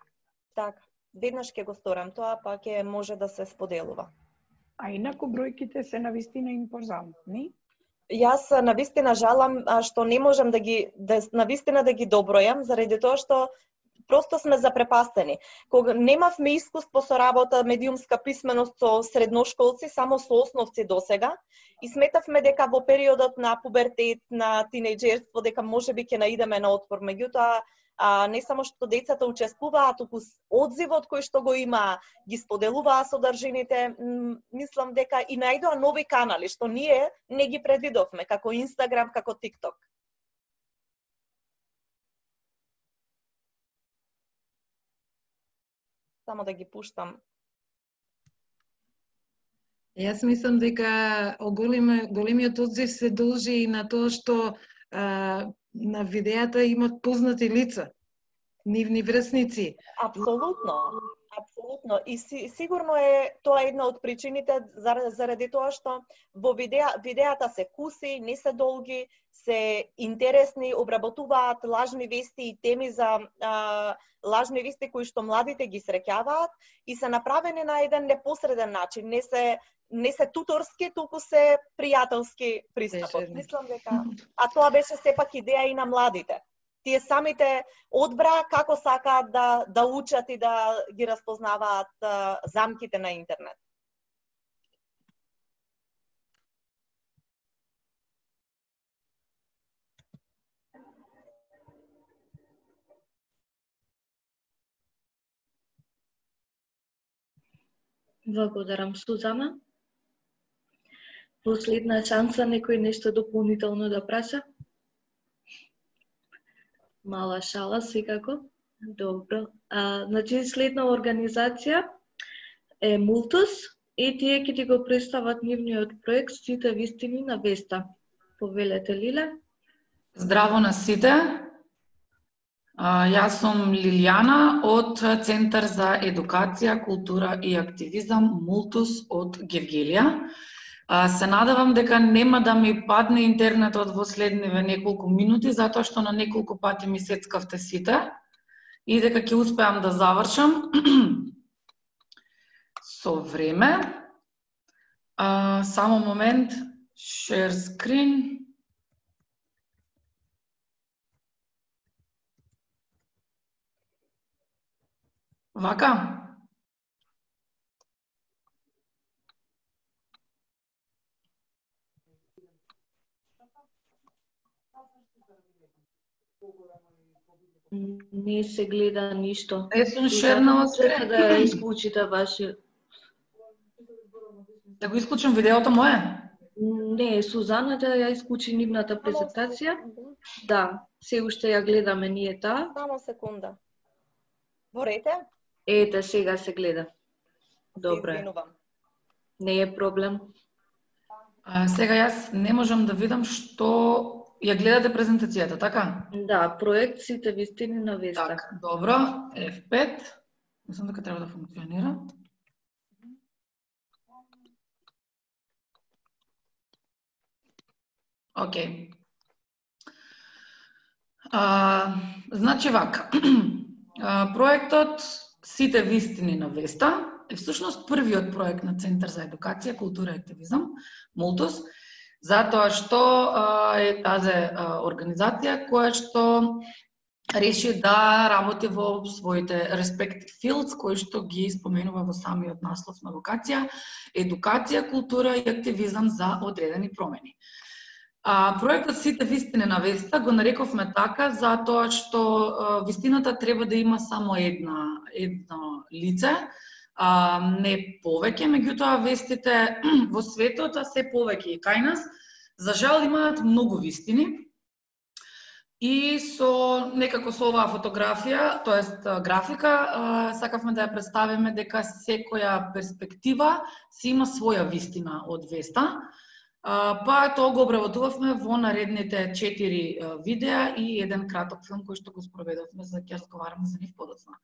Така, веднаш ќе го сторам тоа, па ќе може да се споделува. А инаку бројките се навистина импозантни. Јас навистина жалам што не можам да ги добројам, заради тоа што просто сме запрепастени. Кога немавме искуство со работа медиумска писменост со средношколци, само со основци досега, и сметавме дека во периодот на пубертет, на тинејџерство, дека можеби ќе наидеме на отпор. Меѓутоа, не само што децата учествуваат, туку одзивот кој што го има, ги споделуваа содржините, мислам дека и најдоа нови канали, што ние не ги предвидовме, како Инстаграм, како ТикТок. Само да ги пуштам. Јас мислам дека големиот одзив се должи и на тоа што на видеата имат познати лица, нивни врсници. Апсолутно, апсолутно. И сигурно е тоа една од причините заради тоа што во видеата се куси, не се долги, се интересни, обработуваат лажни вести и теми за лажни вести кои што младите ги среќаваат и се направени на еден непосреден начин, не се туторски, туку се пријателски пристапот. Мислам дека тоа беше сепак идеја и на младите. Тие самите одбра како сакаат да учат и да ги разпознаваат замките на интернет. Благодарам, Сузана. Последна шанса некој нешто дополнително да праша? Мала шала, секако. Добро. Значи, следна организација е Мултус и тие ќе ти го представат нивниот проект Сите вистини на Веста. Повелете, Лиле? Здраво на сите. Јас сум Лилијана од Центар за едукација, култура и активизам Мултус од Гевгелија. Се надевам дека нема да ми падне интернетот во следниве неколку минути, затоа што на неколку пати ми сецкавте сите и дека ќе успеам да завршам со време. Само момент, share screen. Вака? Не се гледа ништо. Сум шернала се. Да исклучите ваши. Да го исклучам видеото мое? Не, Сузана да ја исклучи нивната презентација. Да, се уште ја гледаме ние таа. Само секунда. Ворете? Ете, сега се гледа. Добре. Не е проблем. Сега јас не можам да видам што ја гледате презентацијата, така? Да, проект Сите вистини на Веста. Така, добро. F5. Мислам дека треба да функционира. Океј. Значи вака. Проектот Сите вистини на Веста е всушност првиот проект на Центар за едукација, култура и активизам, Мултус, затоа што е тази организација која што реши да работи во своите respective fields, кои што ги споменува во самиот наслов на локација, едукација, култура и активизам за одредени промени. Проектот Сите вистини на веста го нарековме така затоа што вистината треба да има само едно лице, не повеќе, меѓутоа вестите во светот, а се повеќе и кај нас, за жал имаат многу вистини. И некако со оваа фотографија, тоест графика, сакавме да ја представиме дека секоја перспектива си има своја вистина од веста. Па тоа го обработувавме во наредните 4 видеа и еден краток филм кој што го спроведовме, за ќе разговараме за нив подоцна.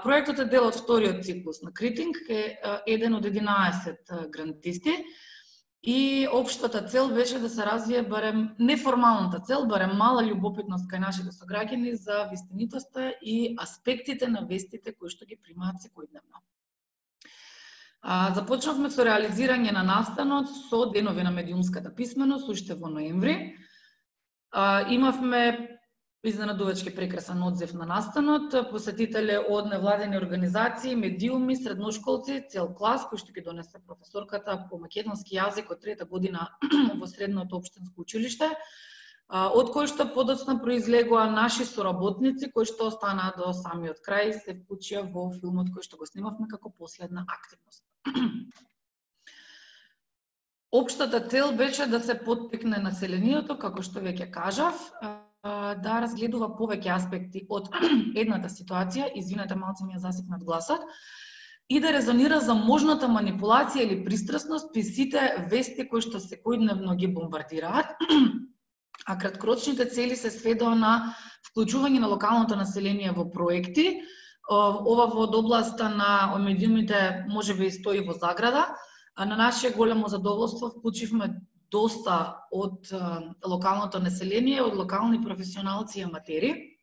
Проектот е дел од вториот циклус на Критинг, е еден од 11 грантисти и општата цел беше да се развие барем неформалната цел, барем мала љубопитност кај нашите сограѓани за вистинитоста и аспектите на вестите кои што ги примаат секојдневно. Започнавме со реализирање на настанот со денови на медиумската писменост уште во ноември. Имавме изненадувачки прекрасен одзив на настанот, посетители од невладени организации, медиуми, средношколци, цел клас кој што ги донесе професорката по македонски јазик од 3-та година во средното општинско училиште, од кој што подоцна произлегува наши соработници кои што останаа до самиот крај, се вклучија во филмот кој што го снимавме како последна активност. Општата цел беше да се поттикне населението, како што веќе кажав, да разгледува повеќе аспекти од едната ситуација, извинете, малце ми ја засекнат гласот, и да резонира за можната манипулација или пристрасност при сите вести кои што секојдневно ги бомбардираат, а краткорочните цели се сведоа на вклучување на локалното население во проекти. Ова во областа на медиумите можеби стои во заграда, а на наше големо задоволство вклучивме доста од локалното население, од локални професионалци и аматери,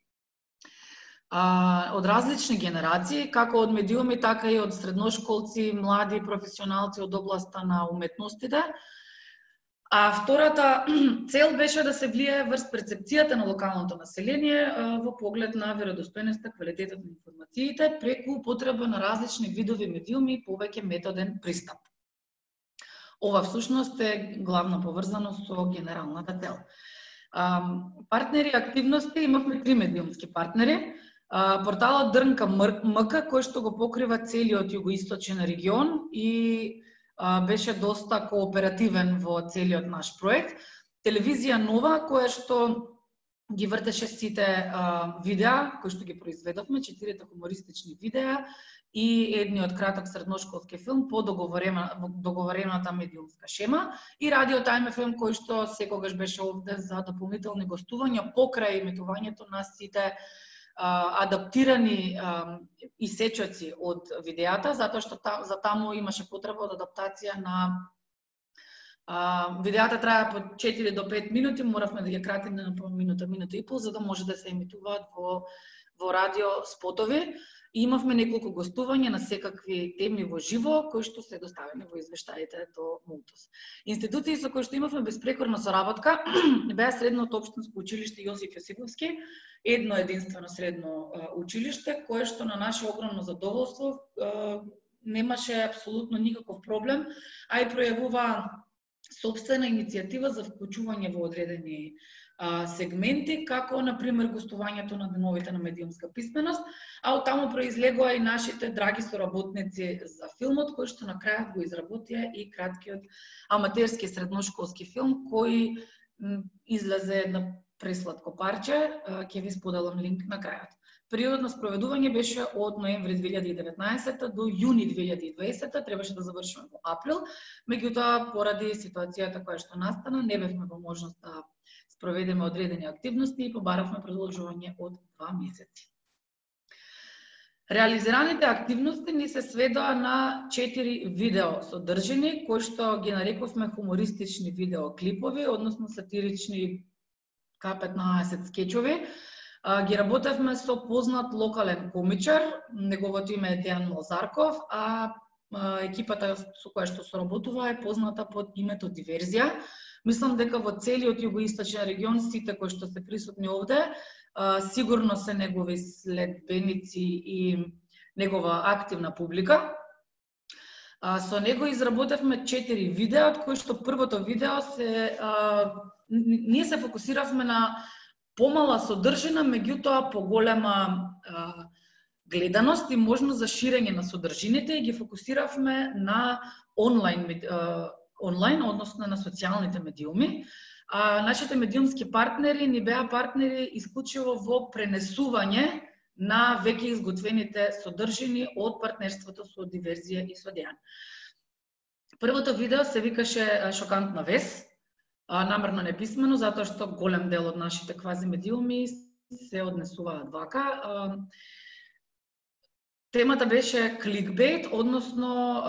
од различни генерации, како од медиуми, така и од средношколци, млади професионалци од областа на уметностите. Втората цел беше да се влие врз перцепцијата на локалното население во поглед на веродостојноста, квалитетот на информациите, преку употреба на различни видови медиуми и повеќе методен пристап. Ова всушност е главно поврзано со генералната цел. Партнери и активности, имавме 3 медиумски партнери. Порталот Дрнка МК, кој што го покрива целиот југоисточен регион и беше доста кооперативен во целиот наш проект. Телевизија Нова, која што ги вртеше сите видеа кои што ги произведовме, 4 хумористични видеа и едниот краток средношколски филм по договорената медиумска шема, и радио Time FM кој што секогаш беше овде за дополнителни гостувања покрај емитувањето на сите адаптирани исечоци од видеата, затоа што за таму имаше потреба од адаптација на видеата трае по 4 до 5 минути, моравме да ги кратиме на по минута, минута и пол, за да може да се емитуваат во радио спотови. И имавме неколку гостувања на секакви теми во живо, кои што се доставени во извештаите до Мултос. Институции со кои што имавме безпрекорна соработка беа Средното општинско училиште Јосиф Јосифовски, едно единствено средно училиште, кое што на наше огромно задоволство немаше апсолутно никаков проблем, а и пројавува сопствена иницијатива за вклучување во одредени сегменти, како, например, гостувањето на деновите на медиумска писменост, а од таму произлегува и нашите драги соработници за филмот, кој што на крајот го изработија и краткиот аматерски средношколски филм, кој излезе на пресладко парче, ќе ви споделам линк на крајот. Периодот на спроведување беше од ноември 2019 до јуни 2020, требаше да завршиме во април, меѓутоа поради ситуацијата која што настана, не бевме во можност да спроведеме одредени активности и побаравме продолжување од 2 месеци. Реализираните активности ни се сведоа на 4 видео содржини, кои што ги нарековме хумористични видеоклипови, односно сатирични К15 скечови. Ги работевме со познат локален комичар, неговото име е Дејан Малзарков, а екипата со која што соработува е позната под името Диверзија. Мислам дека во целиот југоисточен регион сите кои што се присутни овде сигурно се негови следбеници и негова активна публика. Со него изработевме 4 видеа, од кои што првото видео ние се фокусиравме на помала содржина, меѓутоа поголема гледаност и можност за ширење на содржините и ги фокусиравме на онлайн, односно на социјалните медиуми. Нашите медиумски партнери ни беа партнери исклучиво во пренесување на веќе изготвените содржини од партнерството со Диверзија и со Дејан. Првото видео се викаше Шокантна вест, намерно неписмено, затоа што голем дел од нашите квази медиуми се однесуваат вака. Темата беше кликбейт, односно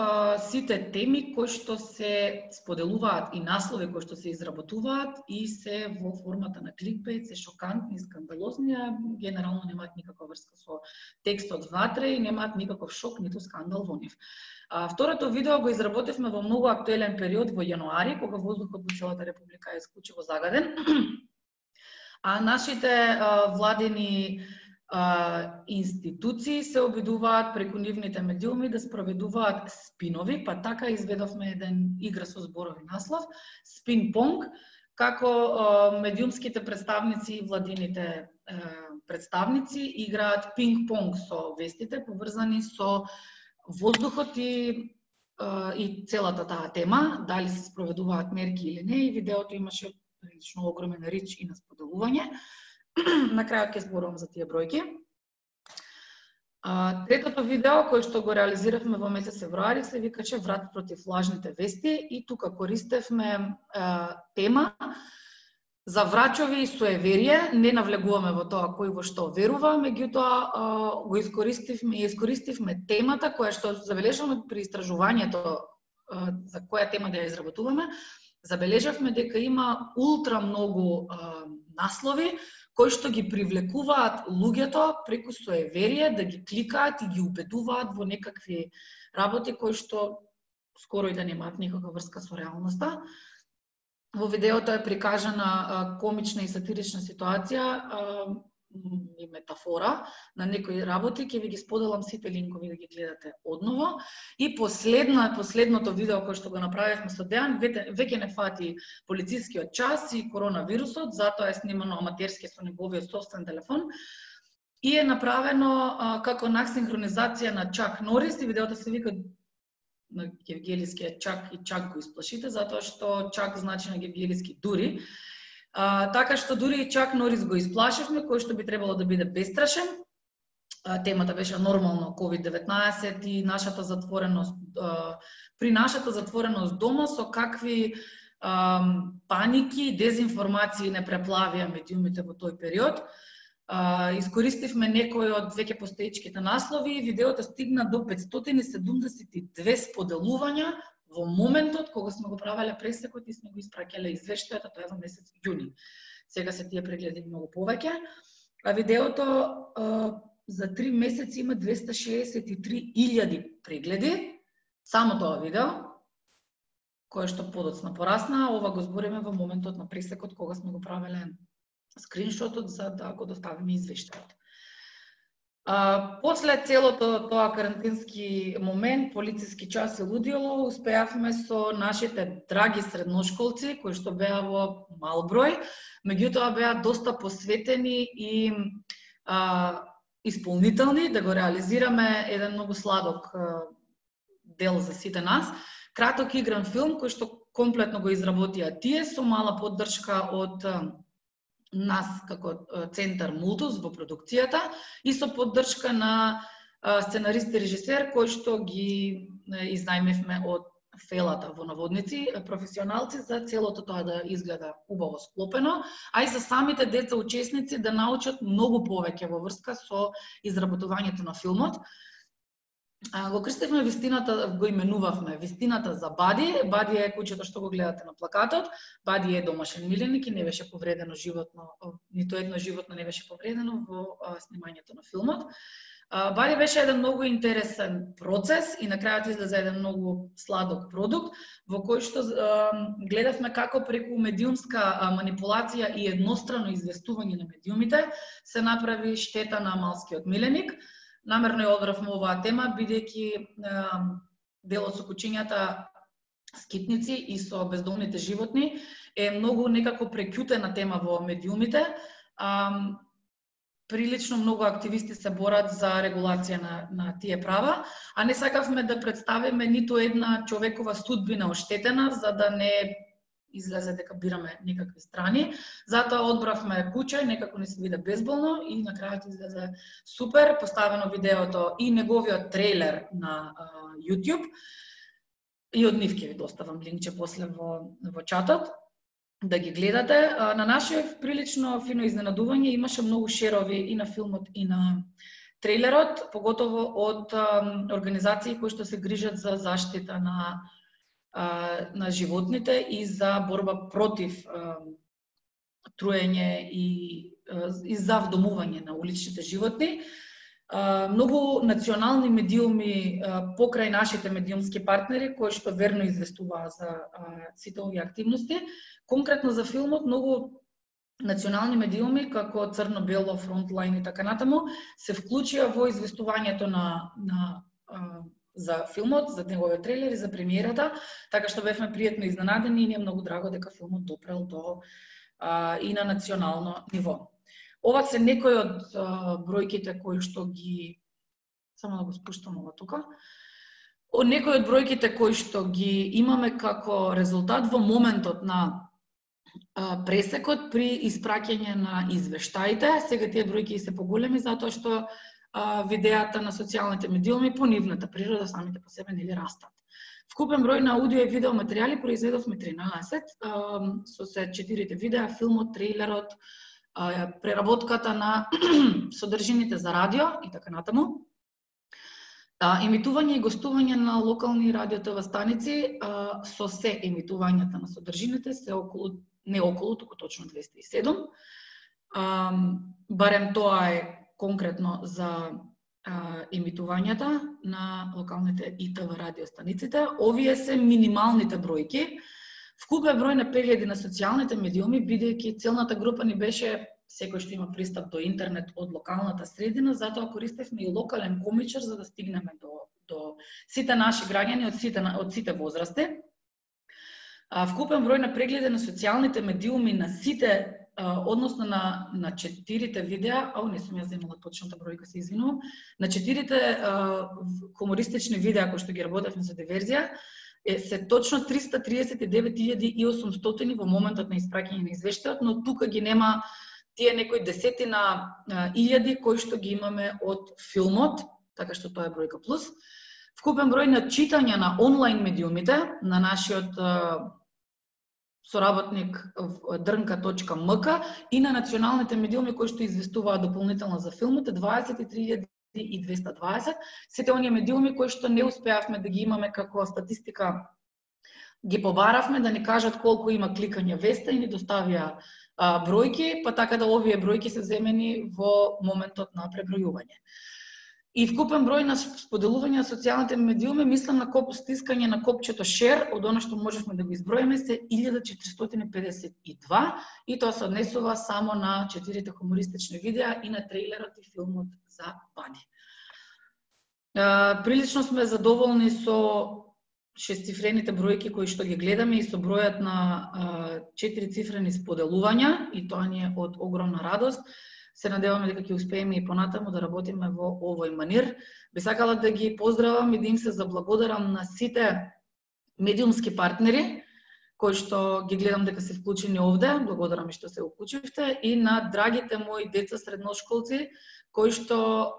сите теми кои што се споделуваат и наслови кои што се изработуваат и се во формата на кликбейт, се шокантни, скандалозни, генерално немаат никаква врска со текстот внатре и немаат никаков шок ниту скандал во нив. Второто видео го изработивме во многу актуелен период во јануари, кога воздухот во целата република е исклучиво загаден. Нашите владени институции се обидуваат преку нивните медиуми да спроведуваат спинови, па така изведовме еден игра со зборови наслов, спин-понг, како медиумските представници и владините представници играат пинг-понг со вестите, поврзани со воздухот и целата таа тема, дали се спроведуваат мерки или не, и видеото имаше прилично огромен рич и на споделување. На крајот ќе зборувам за тие бројки. Третото видео, кој што го реализиравме во месец февруари, се викаше Врат против лажните вести и тука користевме тема за врачови и суеверие. Не навлегуваме во тоа кој во што верува, меѓутоа го искористивме темата која што забележавме при истражувањето за која тема да ја изработуваме. Забележавме дека има ултра многу наслови кои што ги привлекуваат луѓето преку суеверие да ги кликаат и ги убедуваат во некакви работи кои што скоро и да немаат никаква врска со реалноста. Во видеото е прикажана комична и сатирична ситуација и метафора на некои работи, ќе ви ги споделам сите линкови да ги гледате одново. И последното видео кое што го направивме со Дејан, веќе не фати полицискиот час и коронавирусот, затоа е снимано аматерски со неговиот собствен телефон и е направено како синхронизација на Чак Норис, и видеото се вика на гевгелискиот Чак и Чак го исплашите, затоа што Чак значи на гевгелиски дури. Така што дури и Чак Норис го исплашивме, кој што би требало да биде бестрашен. Темата беше нормално COVID-19 и нашата затвореност, при нашата затвореност дома со какви паники и дезинформации не преплавија медиумите во тој период. Искористивме некои од веќе постоечките наслови и видеото стигна до 572 споделувања во моментот кога сме го правеле пресекот и сме го испраќале извештајот, тоа е во месец јуни. Сега се тие прегледи многу повеќе. Видеото за 3 месеци има 263.000 прегледи. Само тоа видео, кое што подоцна порасна, ова го збориме во моментот на пресекот кога сме го правеле скриншотот за да го доставиме извештајот. После целото тоа карантински момент, полициски час и лудило, успеавме со нашите драги средношколци, кои што беа во мал број, меѓутоа беа доста посветени и исполнителни да го реализираме еден многу сладок дел за сите нас. Краток игран филм кој што комплетно го изработија тие со мала поддршка од нас како Центар Мултус во продукцијата и со поддршка на сценарист и режисер кој што ги изнајмивме од Фелата во наводници, професионалци за целото тоа да изгледа убаво склопено, а и за самите деца учесници да научат многу повеќе во врска со изработувањето на филмот. Го крстевме вистината, го именувавме вистината за Бади. Бади е кучето што го гледате на плакатот. Бади е домашен миленик и не беше повредено животно, нито едно животно не беше повредено во снимањето на филмот. Бади беше еден многу интересен процес и на крајот излезе еден многу сладок продукт во кој што гледавме како преку медиумска манипулација и еднострано известување на медиумите се направи штета на малскиот миленик. Намерно ја одбравме оваа тема, бидејќи делот со кучињата скитници и со бездомните животни е многу некако преќутена тема во медиумите. Прилично многу активисти се борат за регулација на тие права, а не сакавме да представиме ниту една човекова судбина оштетена, за да не излезе дека бираме некакви страни. Затоа одбравме куче, некако не се виде безболно и на крајот излезе супер, поставено видеото и неговиот трейлер на YouTube. И од нив ќе ви доставам линкче после во чатот да ги гледате. На наше прилично фино изненадување имаше многу шерови и на филмот и на трейлерот, поготово од организации кои што се грижат за заштита на животните и за борба против труење и за вдомување на уличните животни. Многу национални медиуми покрај нашите медиумски партнери кои што верно известуваат за сите овие активности. Конкретно за филмот многу национални медиуми како Црно-бело, Фронтлайн и така натаму се вклучија во известувањето за филмот, за неговиот трейлер и за премиерата, така што бевме пријатно изненадени и ни е многу драго дека филмот допрел и на национално ниво. Ова се некои од бројките кои што ги... Само да го спуштам ова тука. Некои од бројките кои што ги имаме како резултат во моментот на пресекот при испраќање на извештаите. Сега тие бројки се поголеми затоа што видеата на социјалните медиуми по нивната природа самите по себе нели растат. Вкупен број на аудио и видео материјали произведовме 13, со се 4 видеа, филмот, трейлерот, преработката на содржините за радио и така натаму. Емитување и гостување на локални радио ТВ станици, со се емитувањата на содржините се туку точно 207. Барем тоа е конкретно за емитувањата на локалните и ТВ радио станиците. Овие се минималните бројки. Вкупен број на прегледи на социјалните медиуми, бидејќи целната група ни беше секој што има пристап до интернет од локалната средина, затоа користевме и локален комичар за да стигнеме до сите наши граѓани од сите возрасти. Вкупен број на прегледи на социјалните медиуми на сите, односно на 4 видеа, не сум ја земала точната бројка, се извинувам, на 4 хумористични видеа кои што ги работевме за диверзија, се точно 339.800 во моментот на испраќање на извештајот, но тука ги нема тие некои десетина илјади кои што ги имаме од филмот, така што тоа е бројка плюс. Вкупен број на читања на онлайн медиумите на нашиот соработник drnka.mk и на националните медиуми кои што известуваат дополнително за филмот е 23.220. Сите оние медиуми кои што не успеавме да ги имаме како статистика, ги побаравме да ни кажат колку има кликање веста и ни доставија бројки, па така да овие бројки се земени во моментот на пребројување. И вкупен број на споделување на социјалните медиуми, мислам на стискање на копчето share, од она што можевме да го изброиме, се 1452 и тоа се однесува само на 4 хумористични видеа и на трейлерот и филмот за Бади. Прилично сме задоволни со шестцифрените бројки кои што ги гледаме и со бројот на 4-цифрени споделувања, и тоа ни е од огромна радост. Се надеваме дека ќе успееме и понатаму да работиме во овој манир. Би сакала да ги поздравам и да им се заблагодарам на сите медиумски партнери кои што ги гледам дека се вклучени овде, благодарам и што се уклучивте, и на драгите мои деца средношколци кои што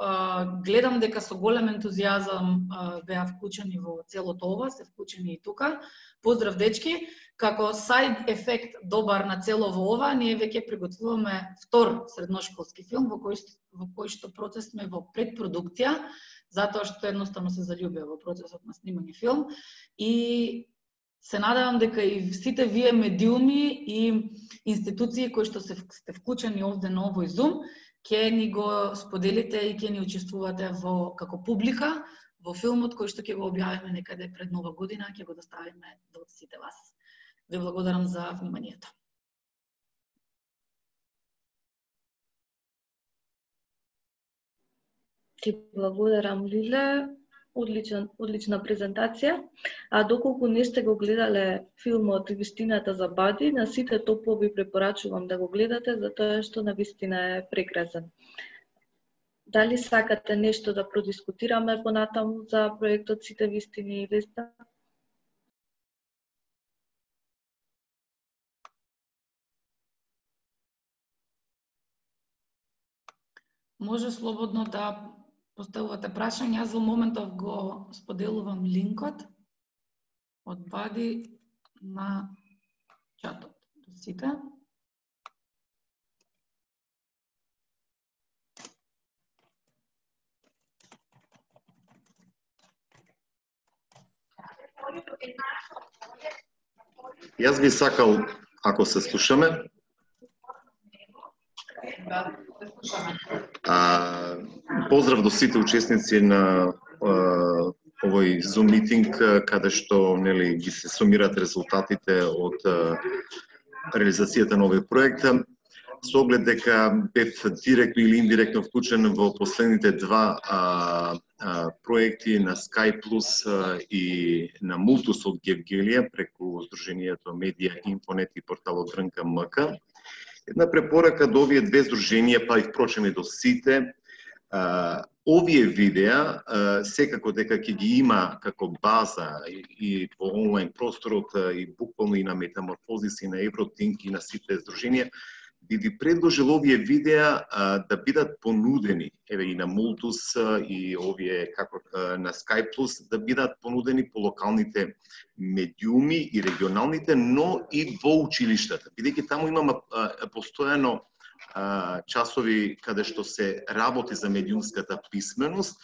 гледам дека со голем ентузијазам беа вклучени во целото ова, се вклучени и тука. Поздрав дечки, како сайд ефект добар на целово ова, ние веќе приготвуваме втор средношколски филм во кој што процес сме во предпродукција, затоа што едноставно се заљубија во процесот на снимање филм и се надевам дека и сите вие медиуми и институции кои што сте вклучени овде на овој Zoom, ќе ни го споделите и ќе ни учествувате како публика во филмот кој што ќе го објавиме некаде пред Нова година, ќе го доставиме до сите вас. Ви благодарам за вниманието. Ти благодарам, Лиле. одлична презентација. А доколку не сте го гледале филмот Вистината за Бади, на сите топло ви препорачувам да го гледате, затоа што навистина е прекрасен. Дали сакате нешто да продискутираме понатаму за проектот Сите вистини и Веста? Може слободно да поставувате прашања. Јас за моментов го споделувам линкот од Бади на чатот до сите. Јас би сакал, ако се слушаме, поздрав до сите учесници на овој Zoom митинг, каде што ги се сумираат резултатите од реализацијата на овој проект. Со оглед дека бев директно или индиректно вклучен во последните два проекти на Sky Plus и на Мултус од Гевгелија преку Сдруженијето Медија Инфонет и порталот ДРНК. Една препорака до овие две здруженија, па и впрочем и до сите, овие видеа секако дека ќе ги има како база и во онлайн просторот и буквално и на Метаморфозис и на Евротинк и на сите здруженија, би ви предложил овие видеа да бидат понудени, еве и на Мултус и овие како на Sky Plus, да бидат понудени по локалните медиуми и регионалните, но и во училиштата. Бидејќи таму имаме постојано часови каде што се работи за медиумската писменост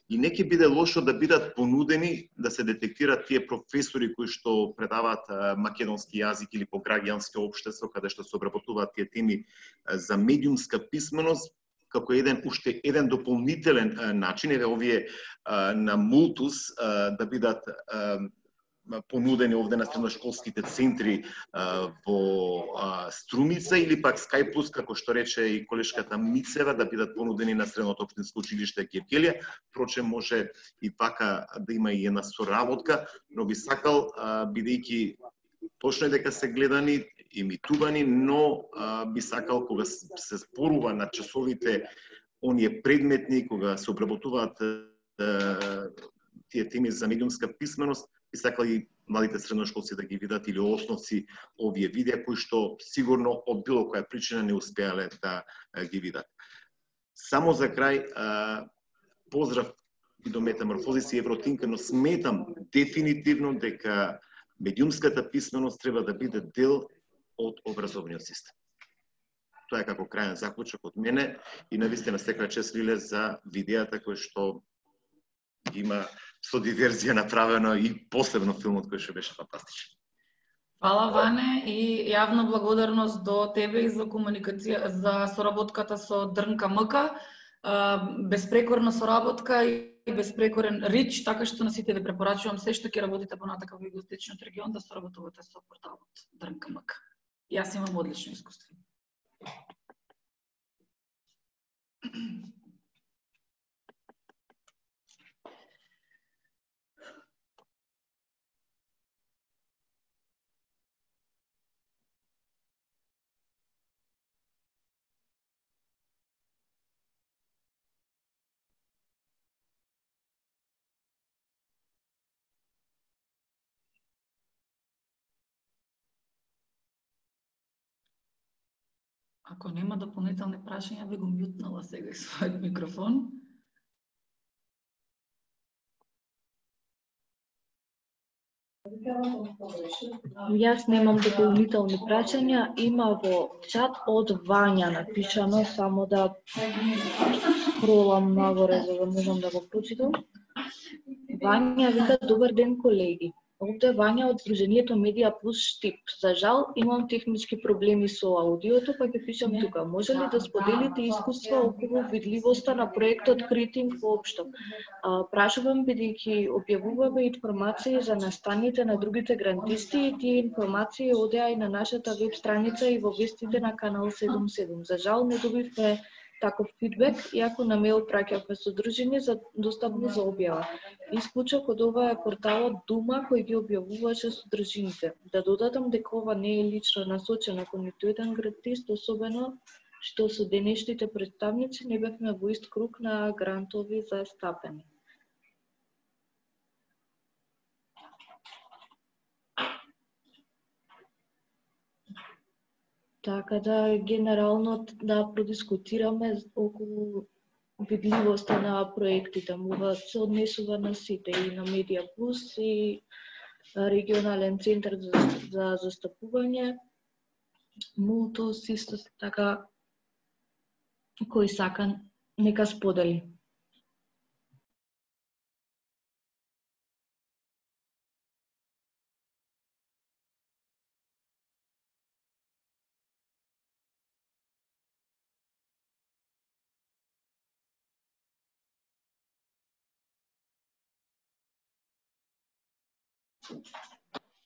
и не ќе биде лошо да бидат понудени, да се детектираат тие професори кои што предаваат македонски јазик или по граѓанско општество, каде што се обработуваат тие теми за медиумска писменост, како уште еден дополнителен начин, еве овие на Мултус да бидат понудени овде на средношколските центри во Струмица или пак Sky Plus, како што рече и колешката Мицева, да бидат понудени на Средното општинско училиште Гевгелија. Впрочем, може и така да има и една соработка, но би сакал, бидејќи точно е дека се гледани, имитувани, но би сакал кога се зборува на часовите оние предметни, кога се обработуваат тие теми за медиумска писменост, би сакал и младите средношколци да ги видат или основци овие видеа кои што сигурно од било која причина не успеале да ги видат. Само за крај, поздрав и до Метаморфозис и Евротинк, но сметам дефинитивно дека медиумската писменост треба да биде дел од образовниот систем. Тоа е како крајен заклучок од мене и навистина секоја чест Лиле за видеата кои што има со диверзија направено и посебно филмот кој што беше фантастичен. Фала, Ване, и јавна благодарност до тебе и за комуникација, за соработката со ДРНК. Безпрекорна соработка и безпрекорен рич, така што на сите ви препорачувам се што ќе работите понатака во Југоисточниот регион да соработувате со порталот ДРНК. Јас имам одлично искуство. Ако нема дополнителни прашања, би го мјутнала сега својот микрофон. Јас немам дополнителни прашања, има во чат од Вања напишано, само да скролам нагоре за да можам да го прочитам. Вања вика: добар ден, колеги. Овде Вања од Сдруженијето Медија Плюс Штип. За жал, имам технички проблеми со аудиото, па ќе пишам тука. Може ли да споделите искуства околу видливоста на проектот Критинг воопшто? Прашувам бидејќи објавуваме информации за настаните на другите грантисти и тие информации одеа и на нашата веб страница и во вестите на Канал 77. За жал, не добивме таков фидбек, иако на мејл праќавме содржини достапни за објава. Исклучок од ова е порталот Дума кој ги објавуваше содржините. Да додадам дека ова не е лично насочено кон ниту еден грантист, особено што со денешните представници не бевме во ист круг на грантови за стапени. Така да, генерално, да продискутираме околу видливоста на проектите. Мога се однесува на сите, и на Медија Плюс, и регионален центар за застапување, Мултос, исто така, кој сака, нека сподели.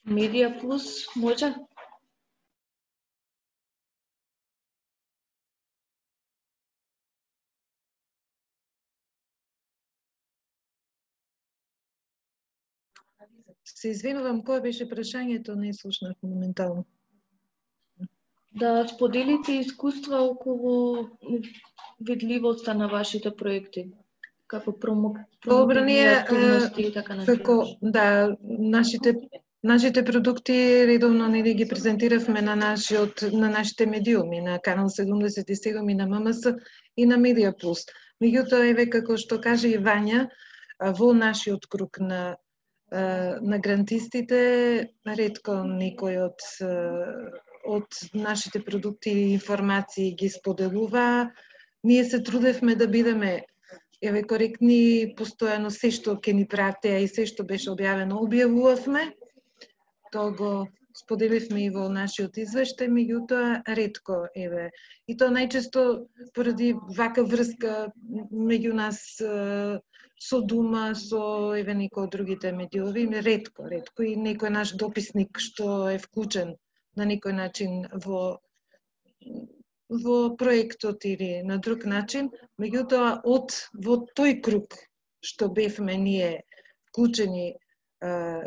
Медија Плюс, може? Се извинувам, кое беше прашањето, не слушнав моментално. Да споделите искуства околу видливоста на вашите проекти, како промоционални активности и така натаму. Да, нашите продукти редовно нели ги презентиравме на нашите медиуми, на Канал 77 и на ММС и на Медија Плюс. Меѓутоа, еве како што кажа и Вања, во нашиот круг на грантистите, ретко некој од нашите продукти и информации ги споделува. Ние се трудевме да бидеме коректни, постојано се што ќе ни пратеа и се што беше објавено објавувавме. Тоа го споделивме и во нашиот извештај, меѓутоа ретко И тоа најчесто поради вака врска меѓу нас со Дума, со некои од другите медиуми, ретко и некој наш дописник што е вклучен на некој начин во проектот или на друг начин, меѓутоа во тој круг што бевме ние вклучени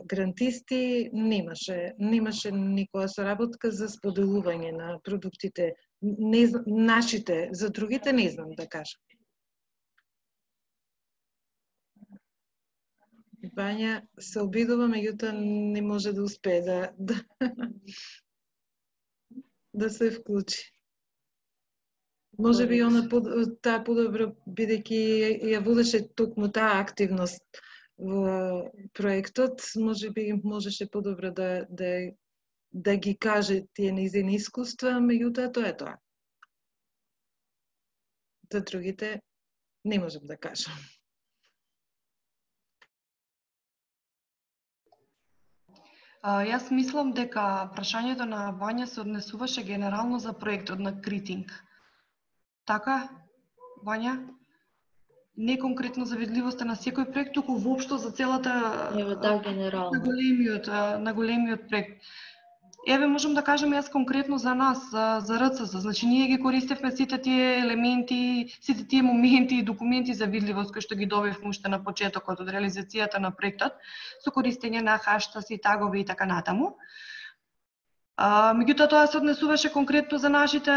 грантисти, немаше никоја соработка за споделување на продуктите, нашите, за другите не знам да кажам. Вања се обидува, меѓутоа не може да успее да се вклучи. Може би таа подобро, бидејќи ја водеше токму таа активност во проектот, може би можеше подобро да ги каже тие нејзини искуства, меѓутоа тоа е тоа. За другите не можам да кажам. Јас мислам дека прашањето на Вања се однесуваше генерално за проектот на Критинг. Така, Вања? Не конкретно за видливоста на секој проект, туку воопшто за целата генерално на големиот проект. Еве можам да кажам јас конкретно за нас, за РЦЗ. Значи ние ги користевме сите тие елементи, сите тие моменти и документи за видливост кои што ги добивме уште на почетокот од реализацијата на проектот, со користење на хаштаси, тагови и така натаму. Меѓутоа тоа се однесуваше конкретно за нашите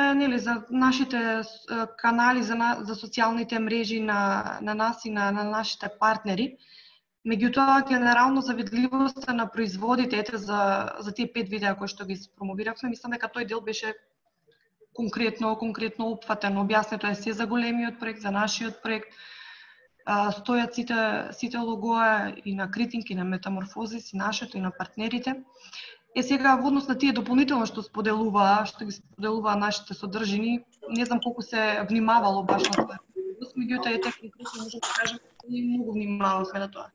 канали, за социјалните мрежи на нас и на нашите партнери. Меѓутоа, генерално за видливоста на производите, за тие 5 видеа кои што ги промовиравме, мислам дека тој дел беше конкретно опфатен. Објаснето е се за големиот проект, за нашиот проект. Стојат сите логоа и на Критинг, и на Метаморфозис, и нашето, и на партнерите. Сега, во однос на тие дополнително што ги споделуваа нашите содржини, не знам колку се внимавало баш на тоа. Меѓутоа, конкретно можам да кажам, ние многу внимававме на тоа.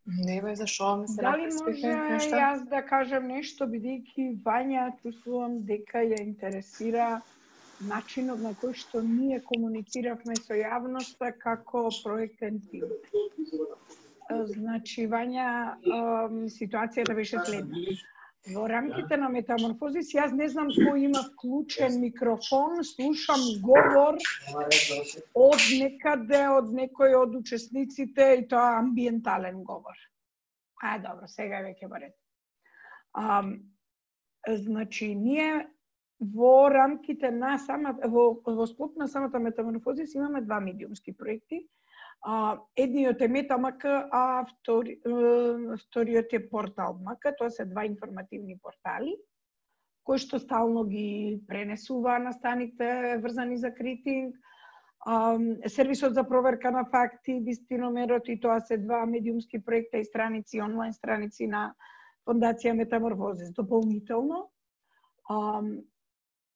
Не бе, зашо ми се Дали може јас да кажам нешто, бидејќи Вања чувствувам дека ја интересира начинот на кој што ние комунициравме со јавноста како проектен тим. Значи, Вања, ситуацијата беше следна. Во рамките на Метаморфозис, јас не знам кој има вклучен микрофон, слушам говор од некаде, од некој од учесниците и тоа амбиентален говор. Добро, сега веќе во ред. Значи, ние во рамките на во склоп на самата Метаморфозис имаме два медиумски проекти. Едниот е Метамк, а вториот е Портал МК. Тоа се два информативни портали, кои што стално ги пренесува настаните врзани за критинг, сервисот за проверка на факти, Вистиномерот, и тоа се два медиумски проекта и страници, онлайн страници на Фондација Метаморфозис. Дополнително,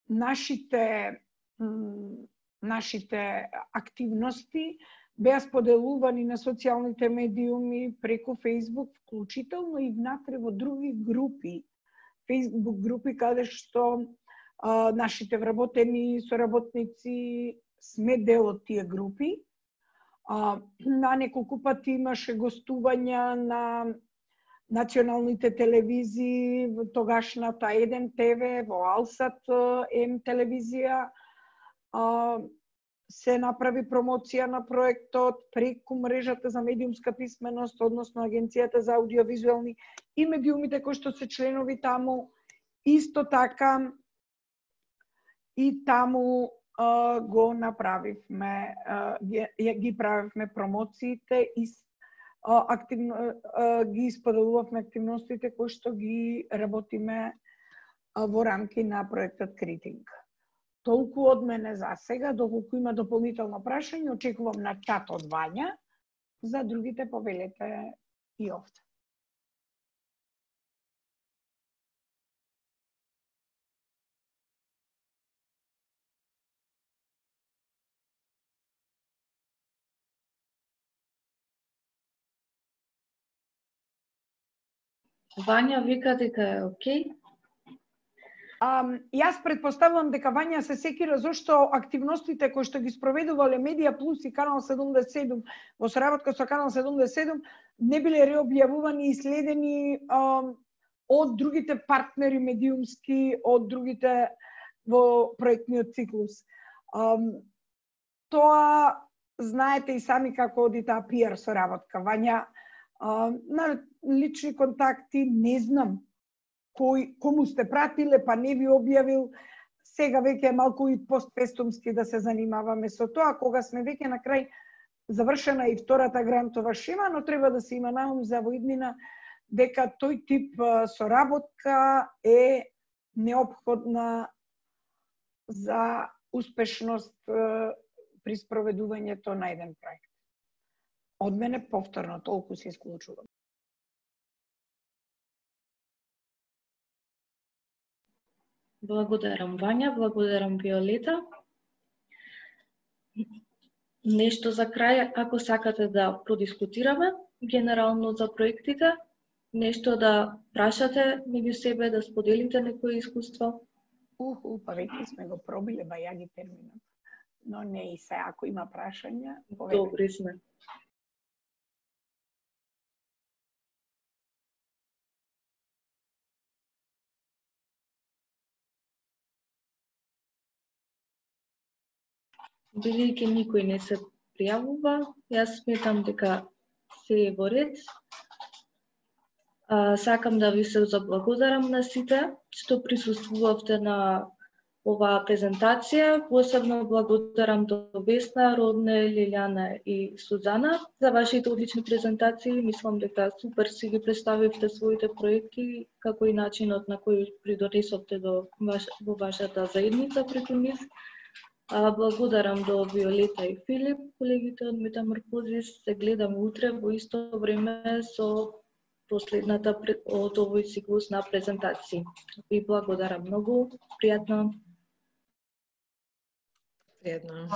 нашите активности беа споделувани на социјалните медиуми преку Facebook, вклучително и внатре во други групи, Facebook групи, каде што нашите вработени соработници сме дел од тие групи. На неколку пати имаше гостувања на националните телевизии, тогашната 1 ТВ, во Алсат М телевизија. Се направи промоција на проектот преку мрежата за медиумска писменост, односно Агенцијата за аудиовизуелни и медиумите кои што се членови таму. Исто така и таму го направивме, ги правивме промоциите и ги споделувавме активностите кои што ги работиме во рамки на проектот Критинг. Толку од мене за сега, доколку има дополнително прашање, очекувам на чат од Вања, за другите повелете и овде. Вања вика дека е окей. Јас предпоставувам дека Вања се секира зашто активностите кои што ги спроведувале Медија Плюс и Канал 77 во соработка со Канал 77 не биле реобјавувани и следени од другите партнери медиумски, од другите во проектниот циклус. Тоа знаете и сами како оди таа PR соработка. Вања на лични контакти не знам кому сте пратиле, па не ви објавил. Сега веќе е малку и постфестумски да се занимаваме со тоа, кога сме веќе на крај завршена и втората грантова шема, но треба да се има на ум за во иднина дека тој тип соработка е неопходна за успешност при спроведувањето на еден проект. Од мене повторно толку се исклучувам. Благодарам, Вања, благодарам, Виолета. Нешто за крај, ако сакате да продискутираме генерално за проектите, нешто да прашате меѓу себе, да споделите некои искуство? Па веќе сме го пробиле бајаги терминот. Но не и се, ако има прашања, добри сме. Бидејќи никој не се пријавува, јас сметам дека се е во ред. Сакам да ви се заблагодарам на сите што присуствувавте на оваа презентација. Посебно благодарам до Весна, Родне, Лилјана и Сузана за вашите одлични презентации. Мислам дека супер си ги представивте своите проекти, како и начинот на кој придонесовте во вашата заедница преку нив. Благодарам до Виолета и Филип, колегите од Метаморфозис. Се гледаме утре во исто време со последната од овој циклус на презентации. Ви благодарам многу. Пријатно. Пријатно.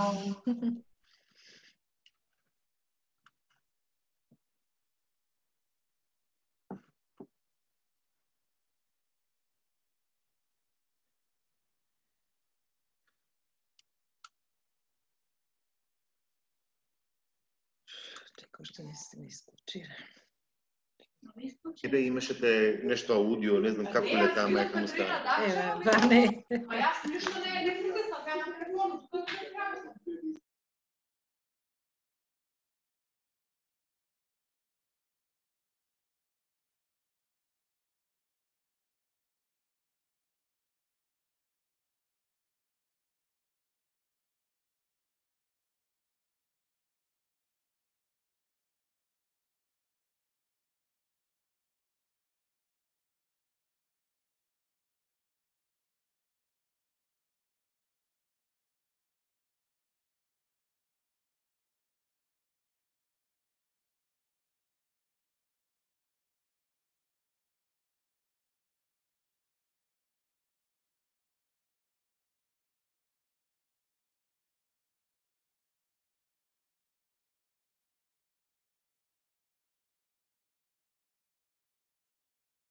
Чекам што не се ми исклучира. Ебе, имашете нешто аудио, не знам како ле таа мајка му става. Еве, ба не.